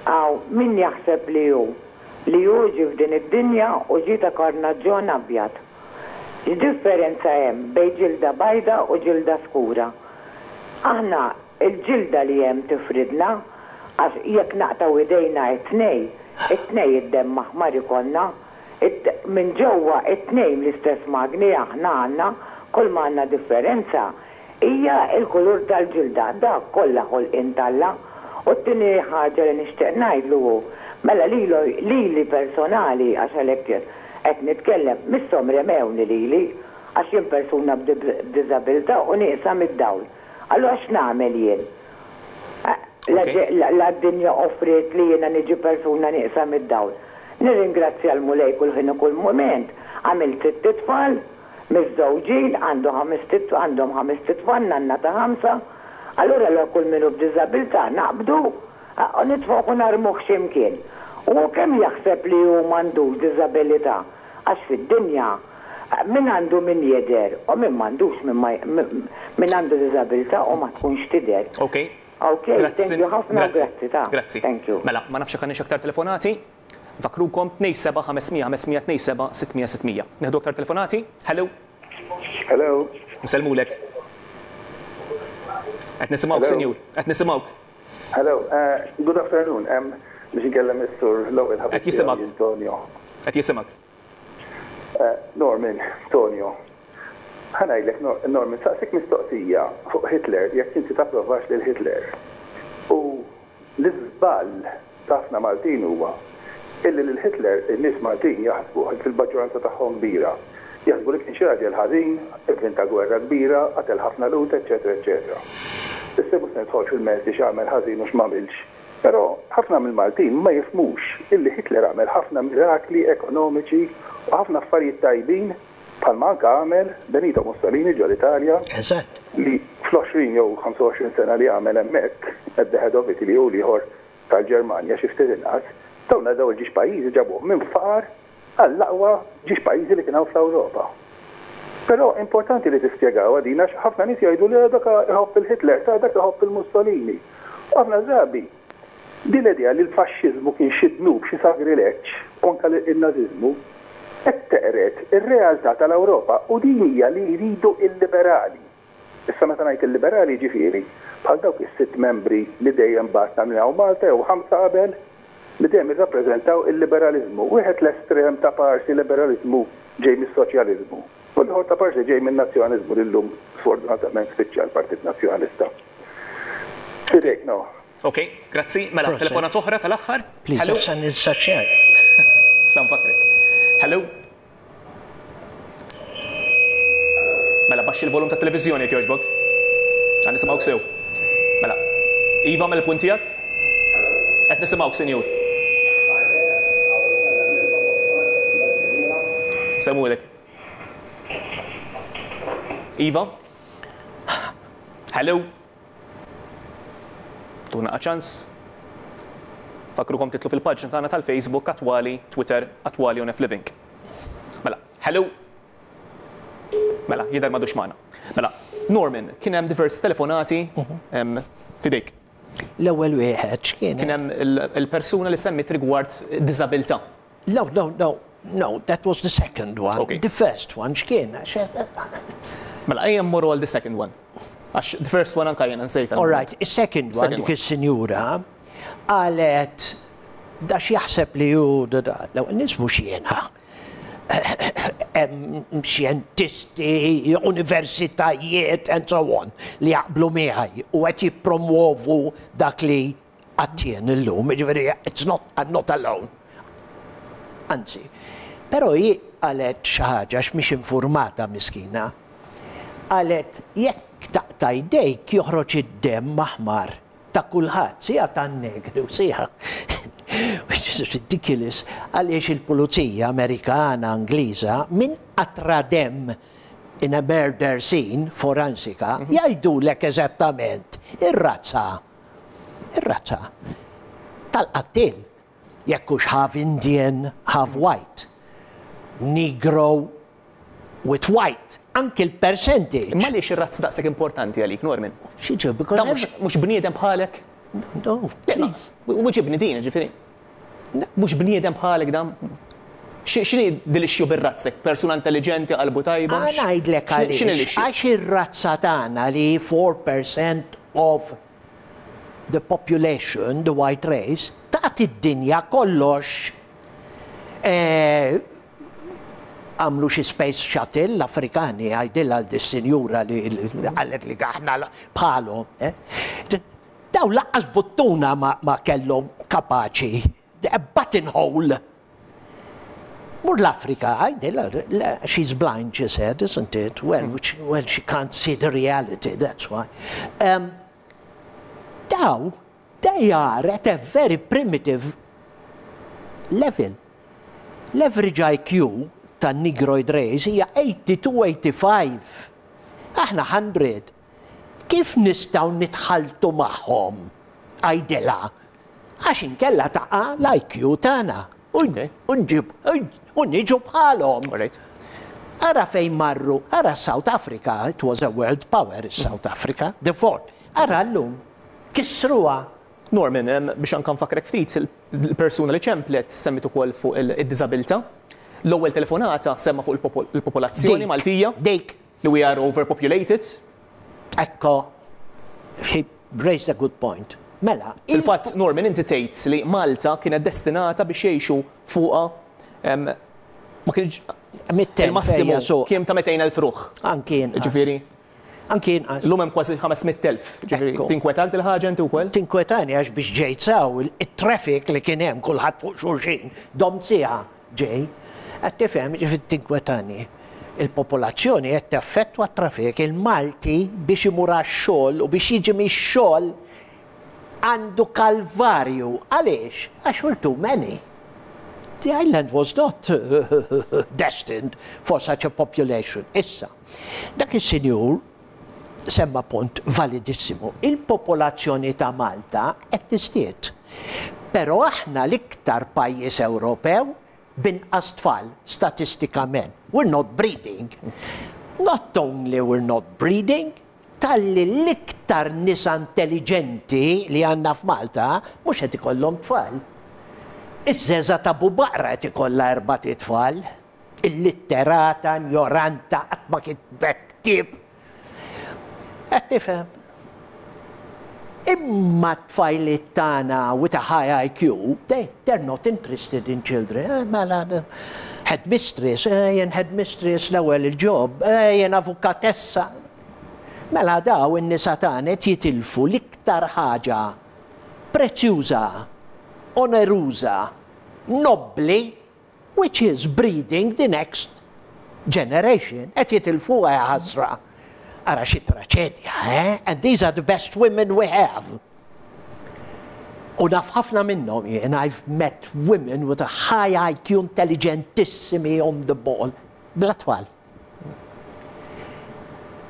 hawn min jaħseb li hu li hu ġie f'din id-dinja u ġie ta' karnaġġon abjad. X'differenza hemm bejn ġilda bajda u ġilda skura? Aħna l-ġilda li hemm tifridna għax jekk naqtgħu idejna it-tnej, it-tnej id-demm aħmar ikollna. Minn ġewwa it-tnejn l-istess magni aħna għandna, kull ma għandna differenza hija l-kulur tal-ġilda, dak kollha ħolqien t'Alla. U t-tieni ħaġa li nixtieq ngħidlu hu, mela lilu, lili personali, għax għalhekk qed nitkellem, misshom remewni lili, għax jien persuna b'diżabilità u nieqsa mid-dawl. Allura x'nagħmel jien? La d-dinja offriet li jiena niġi persuna nieqsa mid-dawl. Nirringrazzja l-Mulej kull ħin u kull mument, għamilt sitt itfal, Miżżewġin, għandu ħamest għandhom ħamest itfal, nanna ta' ħamsa. Allura la kull min hu b'diżabilità naqbdu u nitfgħuh u narmuh xi mkien. U hu kemm jaħseb li hu m'għandux diżabilità? Għax fid-dinja. Min għandu min jidher u min m'għandux min ma min għandu diżabilità u ma tkunx tidher. Ok. Ok, thank you ħafna u grazzi ta. Grazzi. Thank you. Mela, ma nafx jekk għandniex aktar telefonati. Nfakkrukom 27 500 500 27 600 600. Nieħdu aktar telefonati? Hello. Hello. Nsellmulek. Qed nisimgħuk, sinjur. Qed nisimgħuk. Hello, good afternoon. Biex inkellem is-sur l-ewwel ħabib. Qed jisimgħek. Antonio. Qed jisimgħek. Norman, Tonio. Ħa ngħidlek, Norman, saqsik mistoqsija fuq Hitler, jekk inti tapprovax lil Hitler. U l-iżball ta' ħafna Maltin huwa illi lil Hitler in-nies Maltin jaħsbu, fil-maġġoranza tagħhom kbira, jaħsbu li kien xi raġel ħażin, ivvinta gwerra kbira, qatel ħafna Lhud, eċċetera eċċetera. Issa mhux se nidħol fil-merti x'għamel ħażin u x'm'għamilx. Però ħafna mill-Maltin ma jifhmux illi Hitler għamel ħafna mirakli ekonomiċi u ħafna affarijiet tajbin bħalma anke għamel Benito Mussolini ġol-Italja li fl-20 jew 25 sena li għamel hemmhekk at the head of Italy u l-ieħor tal-Ġermanja xi ftit inqas, dawn dawn il-ġiex pajjiżi ġabuhom minn faqar għall-aqwa ġiex pajjiżi li kien hawn fl-Ewropa. Però importanti li tispjegawha din għax ħafna nies jgħidu le dak iħobb il-Hitler, ta' dak iħobb il-Mussolini. U ħafna drabi din l-idea li l-faxxiżmu kien xi dnub, xi sagrileġġ, u anke n-Nażiżmu, qed teqred ir-realtà tal-Ewropa u din hija li jridu l-liberali. Issa meta ngħid il-liberali jiġifieri bħal dawk is-sitt membri li dejjem bagħatna minn hawn Malta jew ħamsa qabel li dejjem irrappreżentaw il-liberaliżmu. Wieħed l-estrem ta' parsi liberaliżmu ġej mis-soċjaliżmu u l-ieħor ta' parsi ġej min-nazzjonaliżmu li llum sfortunatament spiċċa l-Partit Nazzjonalista. F'idejk no. Ok, grazzi. Mela, telefonata oħra tal-aħħar. Please, Hello. issa ninsa xejn. Issa nfakkrek. Hello. Mela, baxxi l-volum tat-televiżjoni jekk jogħġbok. Ħa nisimgħuk sew. Mela. Iva, għamel il-punt tiegħek? Qed nisimgħuk, sinjur. Semmulek. Iva? Hello? Tuna ċans. Fakkrukom titlu fil-paġna tagħna tal-Facebook Attwali, Twitter, Attwali on F Living. Mela, hello. Mela, jidher m'għadux magħna. Mela, Norman, kien hemm diversi telefonati f'idejk. L-ewwel wieħed x'kien? Kien hemm il-persuna li semmit rigward diżabilità. No, no, no, no, that was the second one. Okay. The first one x'kien? Mela, ejja mmorru għal the second one. Għax the first one anka jiena nsejtha. All right, is-second one, dik is-sinjura qalet da x'jaħseb li hu da da. L-ewwel nies mhux jiena. Hemm xjentisti, universitajiet and so on li jaqblu miegħi u qed jippromwovu dak li għadt jien illum, jiġifieri it's not, I'm not alone. Anzi, però hi qalet xi ħaġa għax mhix infurmata miskina. Qalet jekk taqta' jdejk joħroġ id-demm aħmar ta' kulħadd, sija tan-negri u sija which is ridiculous għaliex il-pulizija Amerikana, Ingliża minn qatra demm in a murder scene forensika jgħidulek eżattament ir-razza ir-razza tal-qattiel jekk hux half Indian, half white, Negro with white, anki l-percentage. Imma għaliex ir-razza daqshekk importanti għalik, Norman? Xi because Dan mhux bniedem bħalek? No, please. Wiġibni din, ġifieri. Mhux bniedem bħalek dan? X'inhi dil-issue bir-razzek? Persuna intelliġenti, qalbu tajba? Ħa ngħidlek għaliex. Għax ir-razza tagħna li hi 4% of the population, the white race, tagħti d-dinja kollox. Għamlu xi space shuttle l-Afrikani, għidilha għal dis-sinjura li qalet li aħna bħalhom. Dawn lanqas buttuna ma kellhom kapaċi, a buttonhole. Mur l-Afrika, għidilha, she's blind she said, isn't it? Well, which, well she can't see the reality, that's why. Um, daw, they are at a very primitive level. L-average IQ tan-Negroid race hija 82-85. Aħna 100. Kif nistgħu nitħalltu magħhom? Għidilha. Għax inkella taqa' l-IQ tagħna. U nġib u niġu bħalhom. Ara fejn marru, ara South Africa, it was a world power is-South Africa, the fourth. Ara llum, kissruha. Norman, biex anke nfakkrek ftit, il-persuna li ċemplet semmiet ukoll fuq id-diżabilità. L-ewwel telefonata semma fuq il-popolazzjoni Maltija. Dik. Li we are overpopulated. Ekko, he raised a good point. Mela. Fil-fatt, Norman, inti tgħid li Malta kienet destinata biex jgħixu fuqha ma kienx il-massimu kien ta' 200,000 ruħ. Anki inqas. Ġifieri. Anki inqas. Illum hemm kważi 500,000. Ġifieri, tinkwetak dil-ħaġa inti wkoll? Tinkwetani għax biex ġejt s'hawn, it-traffic li kien hemm kulħadd fuq xulxin, domt siegħa ġej. Qed tifhem, ġifieri tinkwetani. Il-popolazzjoni qed teffettwa t-traffic. Il-Malti biex imur għax-xogħol u biex jiġi mix-xogħol għandu kalvarju. Għaliex? Għax we're too many. The island was not destined for such a population. Issa, dak is-sinjur semma punt validissimu. Il-popolazzjoni ta' Malta qed tiżdied. Però aħna l-iktar pajjiż Ewropew b'inqas tfal statistikament. We're not breeding. Not only we're not breeding, talli l-iktar nisa intelliġenti li għandna f'Malta mhux qed ikollhom tfal. Iż-żeża ta' Bubaqra qed ikollha erbat itfal. Illitterata, injoranta, qatt ma kitbet ktieb. Qed tifhem? Imma t-tfajliet tagħna with a high IQ, they, they're not interested in children. Eh, mela, headmistress, eh, jien headmistress l-ewwel il-job, eh, jien avukatessa. Mela daw in-nisa tagħna qed jitilfu l-iktar ħaġa prezzjuża, oneruża, nobbli which is breeding the next generation. Qed jitilfuha ja ħasra. Ara xi traċedja, eh? And these are the best women we have. U naf ħafna minnhom jien, I've met women with a high IQ intelligentissimi on the ball, bla tfal.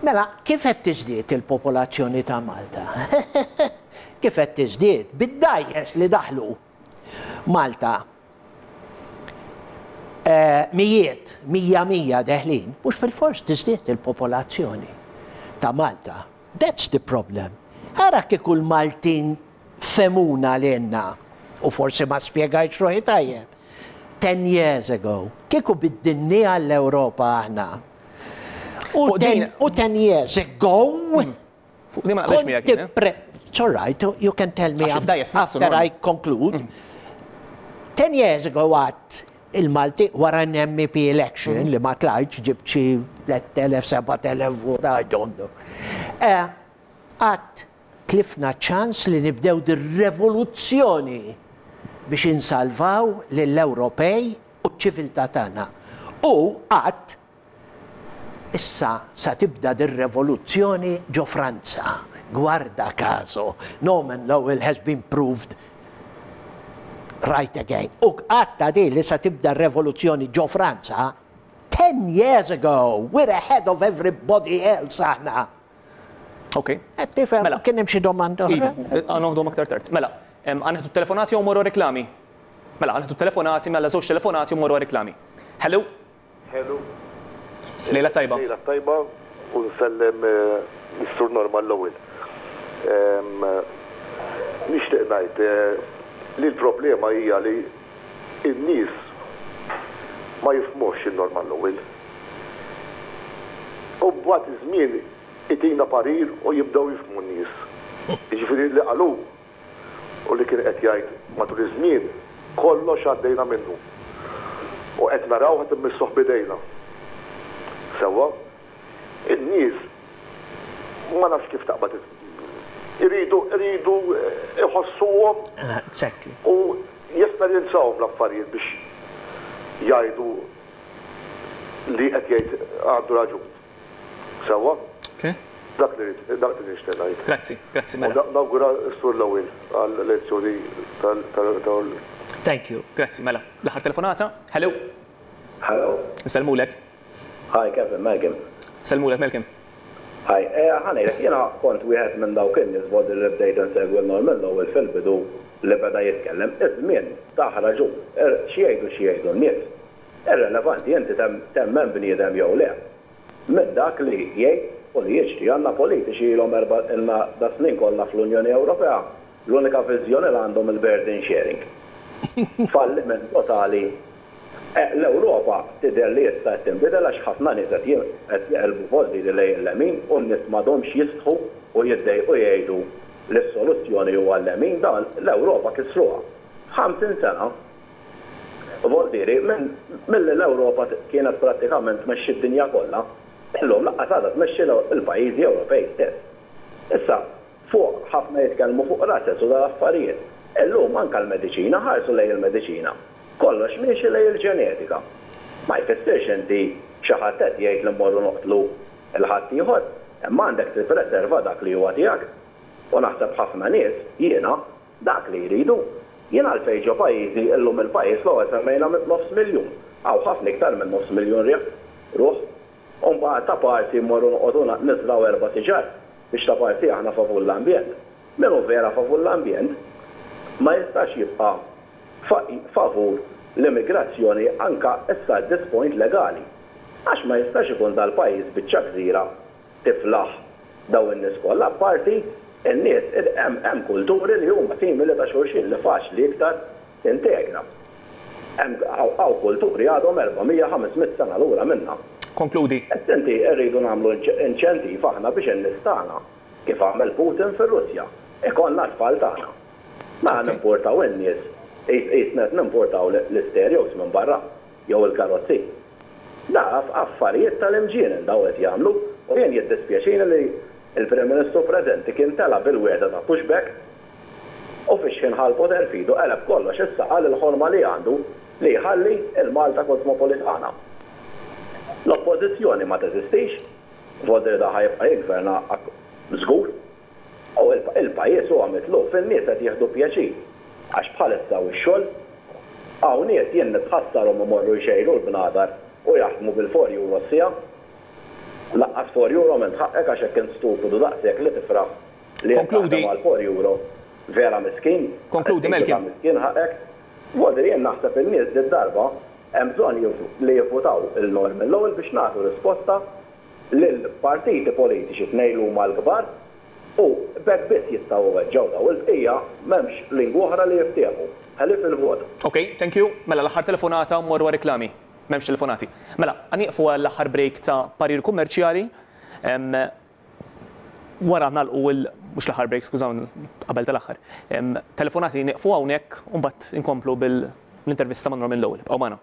Mela, kif qed tiżdied il-popolazzjoni ta' Malta? Kif qed tiżdied? Bid-dgħajjes li daħlu Malta mijiet, 100 100 deħlin, mhux bilfors tiżdied il-popolazzjoni ta' Malta. That's the problem. Ara kieku l-Maltin fehmuna lilna, u forsi ma spjegajtx ruħi tajjeb, ten years ago, kieku biddilniha l-Ewropa aħna. U ten, u ten years ago, Fuq din ma naqbilx miegħek jien, eh? It's all right, you can tell me after I conclude. Mm. Ten years ago għat il-Malti wara n-MEP election mm. li ma tlajtx ġibt xi 3000, 7000 vot, I don't know. Eh, għat tlifna ċans li nibdew dir-revoluzzjoni biex insalvaw lill-Ewropej u ċ-ċiviltà tagħna. U għat Issa sa tibda dir-revoluzzjoni ġo Franza. Guarda caso, Norman Lowell has been proved right again. U għadtha di li sa tibda r-revoluzzjoni ġo Franza ten years ago. We're ahead of everybody else aħna. Ok. Qed tifhem? Mela. Kien hemm xi domanda oħra? Iva, ħa noħduhom aktar tard. Mela, ħa nieħdu t-telefonati jew mmorru għar-reklami? Mela, ħa nieħdu t-telefonati, mela żewġ telefonati u mmorru għar-reklami. Hello? Hello. Lejla tajba. Lejla tajba u nsellem lis-Sur Norman Lowell. Nixtieq ngħid li l-problema hija li n-nies ma jifhmux lil Norman Lowell. U mbagħad iż-żmien itina parir u jibdew jifhmu n-nies. Jiġifieri li qal hu u li kien qed jgħid matul iż-żmien, kollox għaddejna minnu. U qed naraw qed immissuh b'idejna. Sewwa? In-nies ma nafx kif taqbad iridu iridu iħossuhom u jesperjenzawhom l-affarijiet biex jgħidu li qed jgħid għandu raġun. Sewwa? Dak li rrid, dak li nixtieq ngħid. Grazzi, grazzi mela. U nawgura s-Sur Lowell għall-elezzjoni tal tal. Thank you. Grazzi, mela. L-aħħar telefonata. Hello. Hello. Insellmulek. Hi Kevin, Malcolm. Insellmulek Malcolm. Hi, ħa ngħidlek, jiena kont wieħed minn dawk in-nies Vodil li bdejt insegwi 'l Norman Lowell fil-bidu li beda jitkellem. Iż-żmien tah raġun. Xi jgħidu xi jgħidu n-nies. Irrelevanti inti temmen bniedem jew le. Minn dak li jgħid u li jiġri. Għandna politiċi ilhom ilna das-snin kollha fl-Unjoni Ewropea, l-unika viżjoni li għandhom il-burden sharing. Falliment totali. L-Ewropa tidher li issa qed tinbidel għax ħafna nies qed jeqilbu voldiri lejn il-lemin u n-nies m'għadhomx jistħu u jiddejqu jgħidu li s-soluzzjoni huwa l-lemin. Dan l-Ewropa kisruha. F'ħamsin sena, voldiri, minn milli l-Ewropa kienet prattikament tmexxi d-dinja kollha, illum lanqas għadha tmexxi l-pajjiżi Ewropej stess. Issa, Fuq, ħafna jitkellmu fuq rases u dal-affarijiet. Illum anke l-mediċina, ħarsu lejn il-mediċina. Kollox miexi lejn il-ġenetika. Ma jfissirx inti xi ħadd qed jgħid li mmorru noqtlu 'l ħaddieħor, imma għandek tippreserva dak li huwa tiegħek. U naħseb ħafna nies, jiena, dak li jridu. Jien għalfejn ġo pajjiżi, illum il-pajjiż l-ewwel semmejna nofs miljun. Hawn ħafna iktar minn nofs miljun riħ, ruħ. U mbagħad ta' parti mmorru noqogħdu niżrgħu erba' siġar biex ta' parti aħna favur l-ambjent. Min hu vera favur l-ambjent ma jistax jibqa' favur l-immigrazzjoni anka issa at this point legali. Għax ma jistax ikun dal-pajjiż biċċa gżira tiflaħ dawn in-nies kollha apparti n-nies hemm hemm kulturi li huma simili ta' xulxin li faċli iktar tintegra. Hemm hawn kulturi għadhom 400, 500 sena lura minna. Konkludi. Issa inti rridu nagħmlu inċentiv aħna biex in-nies tagħna, kif għamel Putin fir-Russja, ikollna t-tfal tagħna. Mela nimportaw in-nies qisna qed nimportaw l-istereos minn barra jew il-karozzi. Da affarijiet tal-imġienen dawn qed jagħmlu u jien jiddispjaċini li l-Prim Ministru preżenti kien tela' bil-wegħda ta' pushback U fix-xħin ħa l-poter f'idu qeleb kollox issa qal il-ħolma li għandu li jħalli il-Malta kosmopolitana. L-Oppożizzjoni ma teżistix, Vodri da ħa jibqa' jiggverna żgur. U il-pajjiż huwa mitluf, in-nies qed jieħdu pjaċir għax bħalissa hawn ix-xogħol. Hawn nies jien nitħassarhom imorru jxejru l-bnadar u jaħdmu bil-four euro s-siegħa. Laqqas four euro m'int ħaqqek għax hekk int stupidu daqshekk li tifraħ Li qed taħdem għal four euro vera miskin. Konkludi Melkim. Miskin ħaqek. Vuol jien naħseb in-nies did-darba hemm bżonn li jivvutaw 'il Norman Lowell biex nagħtu risposta lill-partiti politiċi tnejn li huma l-kbar u b'hekk biss jistgħu iweġġgħu dawn. Il-bqija m'hemmx lingwa oħra li jiftehmu ħlief il-vot. Ok, thank you. Mela l-aħħar telefonata u mmorru għar-riklami. M'hemmx telefonati. Mela, ħa nieqfu għall-aħħar break ta' parir kummerċjali. Wara nagħlqu il, mhux l-aħħar break, skużawni, qabel tal-aħħar. Telefonati nieqfu hawnhekk u mbagħad inkomplu bil-intervista ma' Norman Lowell. Ibqgħu magħna.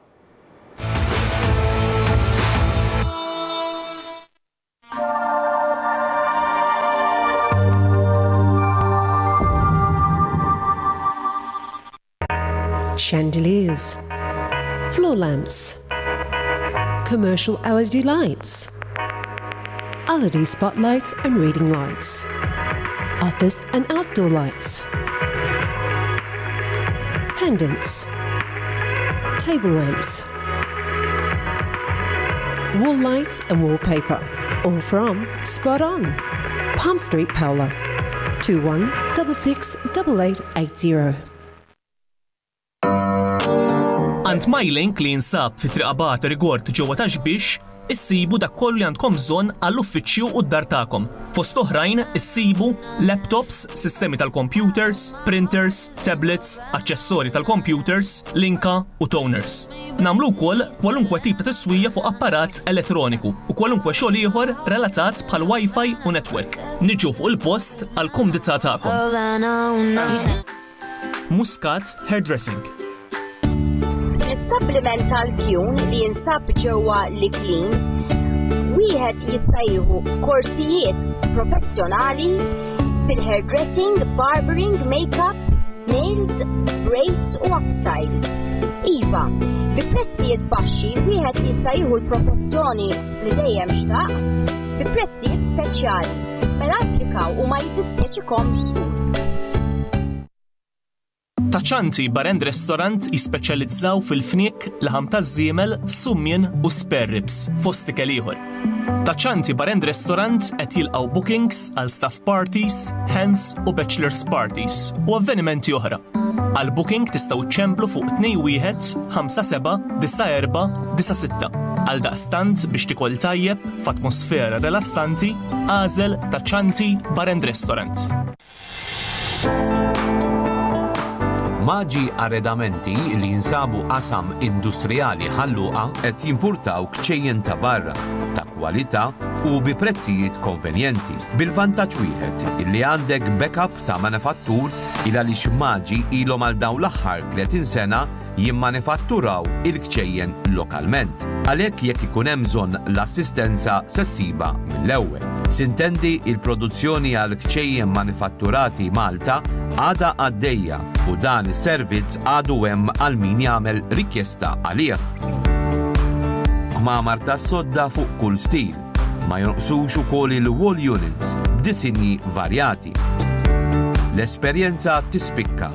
Chandeliers, floor lamps, commercial LED lights, LED spotlights and reading lights, office and outdoor lights, pendants, table lamps, wall lights and wallpaper. All from Spot On, Palm Street, Paola. 21 66 8880. Għand MyLink li jinsab fi Triq Abate Rigord ġewwa Ta' Xbiex, issibu dak kollu li għandkom bżonn għall-uffiċċju u d-dar tagħkom. Fost oħrajn issibu laptops, sistemi tal-computers, printers, tablets, aċċessorji tal-computers, linka u toners. Nagħmlu wkoll kwalunkwe tip ta' tiswija fuq apparat elettroniku u kwalunkwe xogħol ieħor relatat bħal Wi-Fi u network. Niġu fuq il-post għall-kumdità tagħkom. Muscat Hairdressing. Fl-istabbiliment tal-Kjun li jinsab ġewwa l-Iklin, wieħed jista' jieħu korsijiet professjonali fil-hairdressing, barbering, makeup, nails, braids u upstyles. Iva, bi prezzijiet baxxi wieħed jista' jieħu l-professjoni li dejjem xtaq bi prezzijiet speċjali. Mela applikaw u ma jiddispjaċikomx żgur. Ta' Ċanti Bar and Restaurant jispeċjalizzaw fil-fniek, laħam taż-żiemel, summien u spare ribs, fost ikel ieħor. Ta' Ċanti Bar and Restaurant qed jilqgħu bookings għal staff parties, hens u bachelors parties u avvenimenti oħra. Għal booking tistgħu ċċemplu fuq 21 57 94 96. Għaldaqstant biex tikol tajjeb f'atmosfera rilassanti, agħżel Ta' Ċanti Bar and Restaurant. Maġi Arredamenti li jinsabu qasam industrijali Ħal Luqa qed jimpurtaw kċejjen ta' barra, ta' kwalità u bi prezzijiet konvenjenti. Bil-vantaġġ wieħed illi għandek backup ta' manifattur il għaliex Maġi ilhom għal dawn l-aħħar 30 sena jimmanifatturaw il-kċejjen lokalment. Għalhekk jekk ikun hemm bżonn l-assistenza se ssibha mill-ewwel. Sintendi il-produzzjoni għal kċejjen manifatturati Malta għadha għaddejja u dan is-servizz għadu hemm għal min jagħmel rikjesta għalih. Kmamar tas-sodda fuq kull stil. Ma jonqsux ukoll il-wall units b'disinji varjati. L-esperjenza tispikka.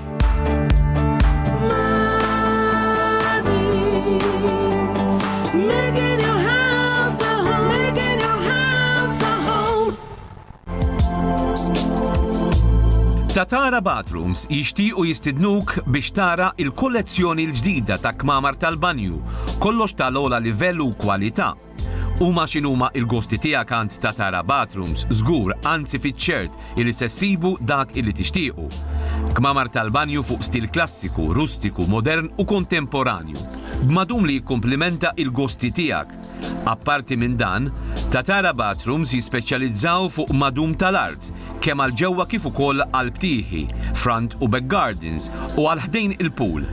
Tatara Bathrooms jixtiequ jistidnuk biex tara il-kollezzjoni l-ġdida ta' kmamar tal-banju, kollox tal-ogħla livell u kwalità. Huma x'inhuma il-gosti tiegħek għand Tatara Bathrooms, żgur, anzi fiċ-ċert illi se ssibu dak illi tixtiequ. Kmamar tal-banju fuq stil klassiku, rustiku, modern u kontemporanju, b'madum li jikkumplimenta il-gosti tiegħek. Apparti minn dan, Tatara Bathrooms jispeċjalizzaw fuq madum tal-art, kemm għal ġewwa kif ukoll għal btieħi, front u back gardens u għal ħdejn il-pool.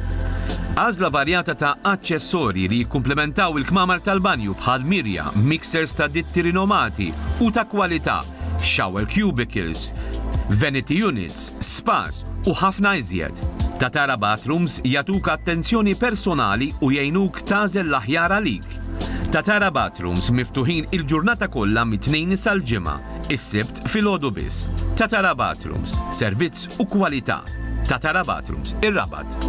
Għażla varjata ta' aċċessorji li jikkumplementaw il-kmamar tal-banju bħal mirja, mixers ta' ditti rinomati u ta' kwalità, shower cubicles, vanity units, spas u ħafna iżjed. Tatara Bathrooms jagħtuk attenzjoni personali u jgħinuk tagħżel l-aħjar għalik. Tatara Bathrooms miftuħin il-ġurnata kollha mit-Tnejn sal-Ġimgħa. Is-Sibt filgħodu biss. Tatara Bathrooms, servizz u kwalità. Tatara Bathrooms, ir-Rabat.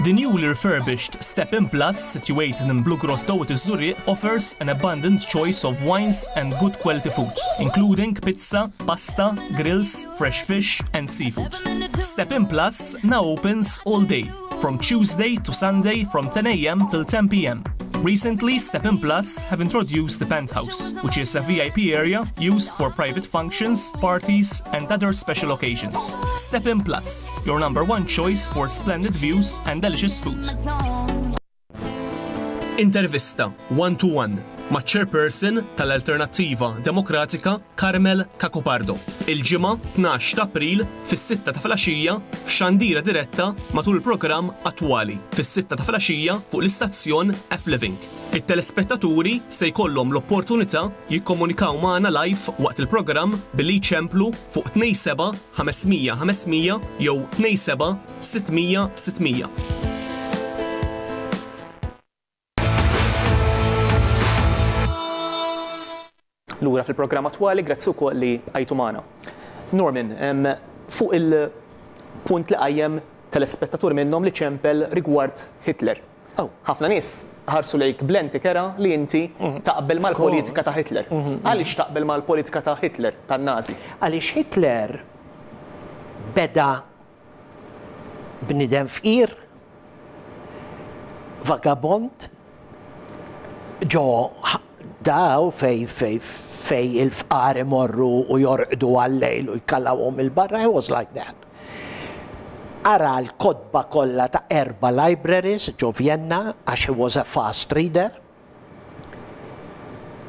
The newly refurbished Step In Plus, situated in Blue Grotto at Zurich, offers an abundant choice of wines and good quality food, including pizza, pasta, grills, fresh fish and seafood. Step In Plus now opens all day, from Tuesday to Sunday from 10 a.m. till 10 p.m. Recently, Step In Plus have introduced the Penthouse, which is a VIP area used for private functions, parties, and other special occasions. Step In Plus, your number one choice for splendid views and delicious food. Intervista one to one ma' chairperson tal-Alternattiva Demokratika Carmel Cacopardo. Il-Ġimgħa 12 ta' April fis-sitta ta' filgħaxija f'xandira diretta matul il-programm Attwali fis-sitta ta' filgħaxija fuq l-istazzjon F-Living. It-telespettaturi se jkollhom l-opportunità jikkomunikaw magħna live waqt il-programm billi jċemplu fuq 27 500 500 jew 27 600 600. Lura fil-programm attwali, grazzi wkoll li bqajtu magħna. Norman, fuq il-punt li qajjem telespettatur minnhom li ċempel rigward Hitler. Oh. Ħafna nies ħarsu lejk b'lenti kera li inti mhm. taqbel mal-politika ta' Hitler. Mhm, mhm. Għaliex taqbel mal-politika ta' Hitler, tan-Nazi? Għaliex Hitler beda bniedem fqir, vagabond, ġo daw fej fej fej il-fqar imorru u jorqdu għal-lejl u jkallawhom il-barra, he was like that. Qara l-kotba kollha ta' erba' libraries ġo Vienna għax he was a fast reader.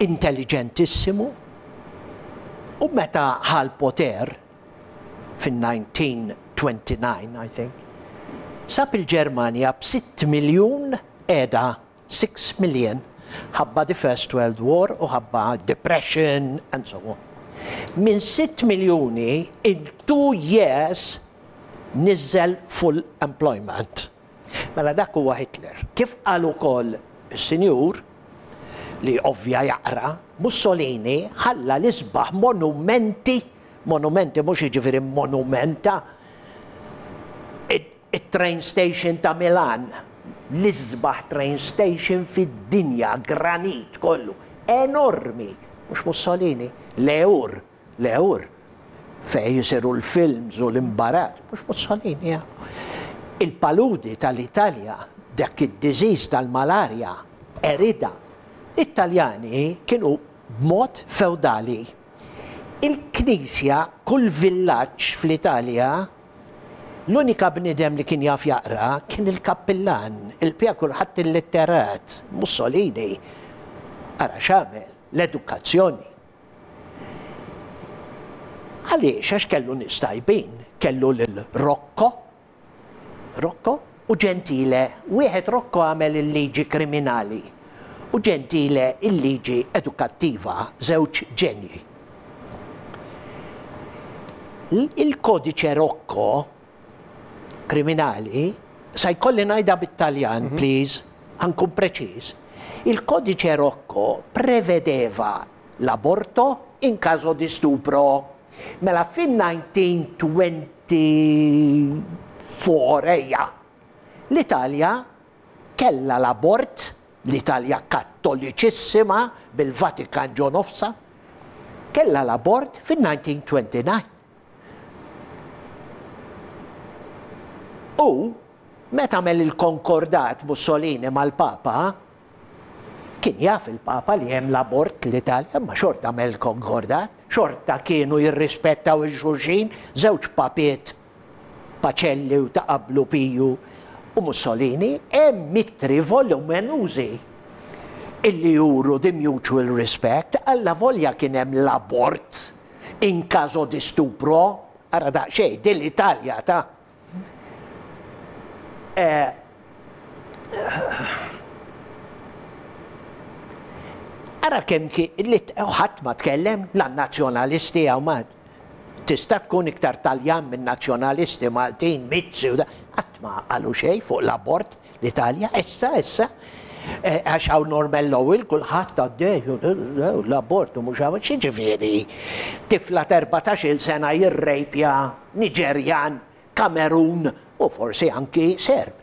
Intelligentissimu. U meta ħa l-poter, fin-1929, I think, sab il-Ġermanja b'sitt miljun qiegħda, six million, ħabba the First World War u ħabba depression and so on. Minn sitt miljuni in two years niżżel full employment. Mela dak huwa Hitler. Kif qal ukoll is-sinjur, li ovvja jaqra, Mussolini ħalla l-isbaħ monumenti, monumenti mhux jiġifieri monumenta, it-train station ta' Milan, l-isbaħ train station fid-dinja, granit kollu, enormi, mhux Mussolini, l-Eur, l-Eur, fejn isiru l-films u l-imbarazz, mhux Mussolini għamlu. Il-paludi tal-Italja, dak id-disease tal-malarja, qeridha. It-Taljani kienu b'mod fewdali. Il-Knisja, kull villaġġ fl-Italja, l-unika bniedem li kien jaf jaqra kien il-kappillan, il-bqija kulħadd illitterat. Mussolini, ara x'għamel, l-edukazzjoni. Għaliex? Għax kellu nies tajbin. Kellu lil Rocco, Rocco u Gentile. Wieħed Rocco għamel il-liġi kriminali u Gentile il-liġi edukattiva, żewġ ġenji. Il-kodiċe Rocco kriminali, sa jkolli ngħidha bit-Taljan, please, ħa nkun preċiż, il-kodiċe Rocco prevedeva l-aborto in caso di stupro. Mela fin-1924, ejja, l-Italja kellha l-abort, l-Italja kattoliċissima bil-Vatikan ġo nofsha, kellha l-abort fin-1929. U meta għamel il-konkordat Mussolini mal-Papa, Kien jaf il-Papa li hemm l-abort l-Italja, imma xorta għamel il-konkordat, xorta kienu jirrispettaw 'il xulxin, żewġ papiet Pacelli u ta' qablu Piju u Mussolini, hemm ittri volumenużi illi juru the mutual respect, allavolja kien hemm l-abort in caso di stupro, ara daqsxejn, din l-Italja ta'. Ara kemm ħadd ma tkellem, la n-Nazzjonalisti hawn ma tista' tkun iktar Taljan minn Nazzjonalisti Maltin, Mizzi u da, qatt ma qalu xejn fuq l-abort l-Italja, issa issa għax hawn Norman Lowell kulħadd għaddej l-abort u mhux hawn x'jiġifieri tifla ta' 14-il sena jirrejpja Niġerjan, Kamerun u forsi anki Serb.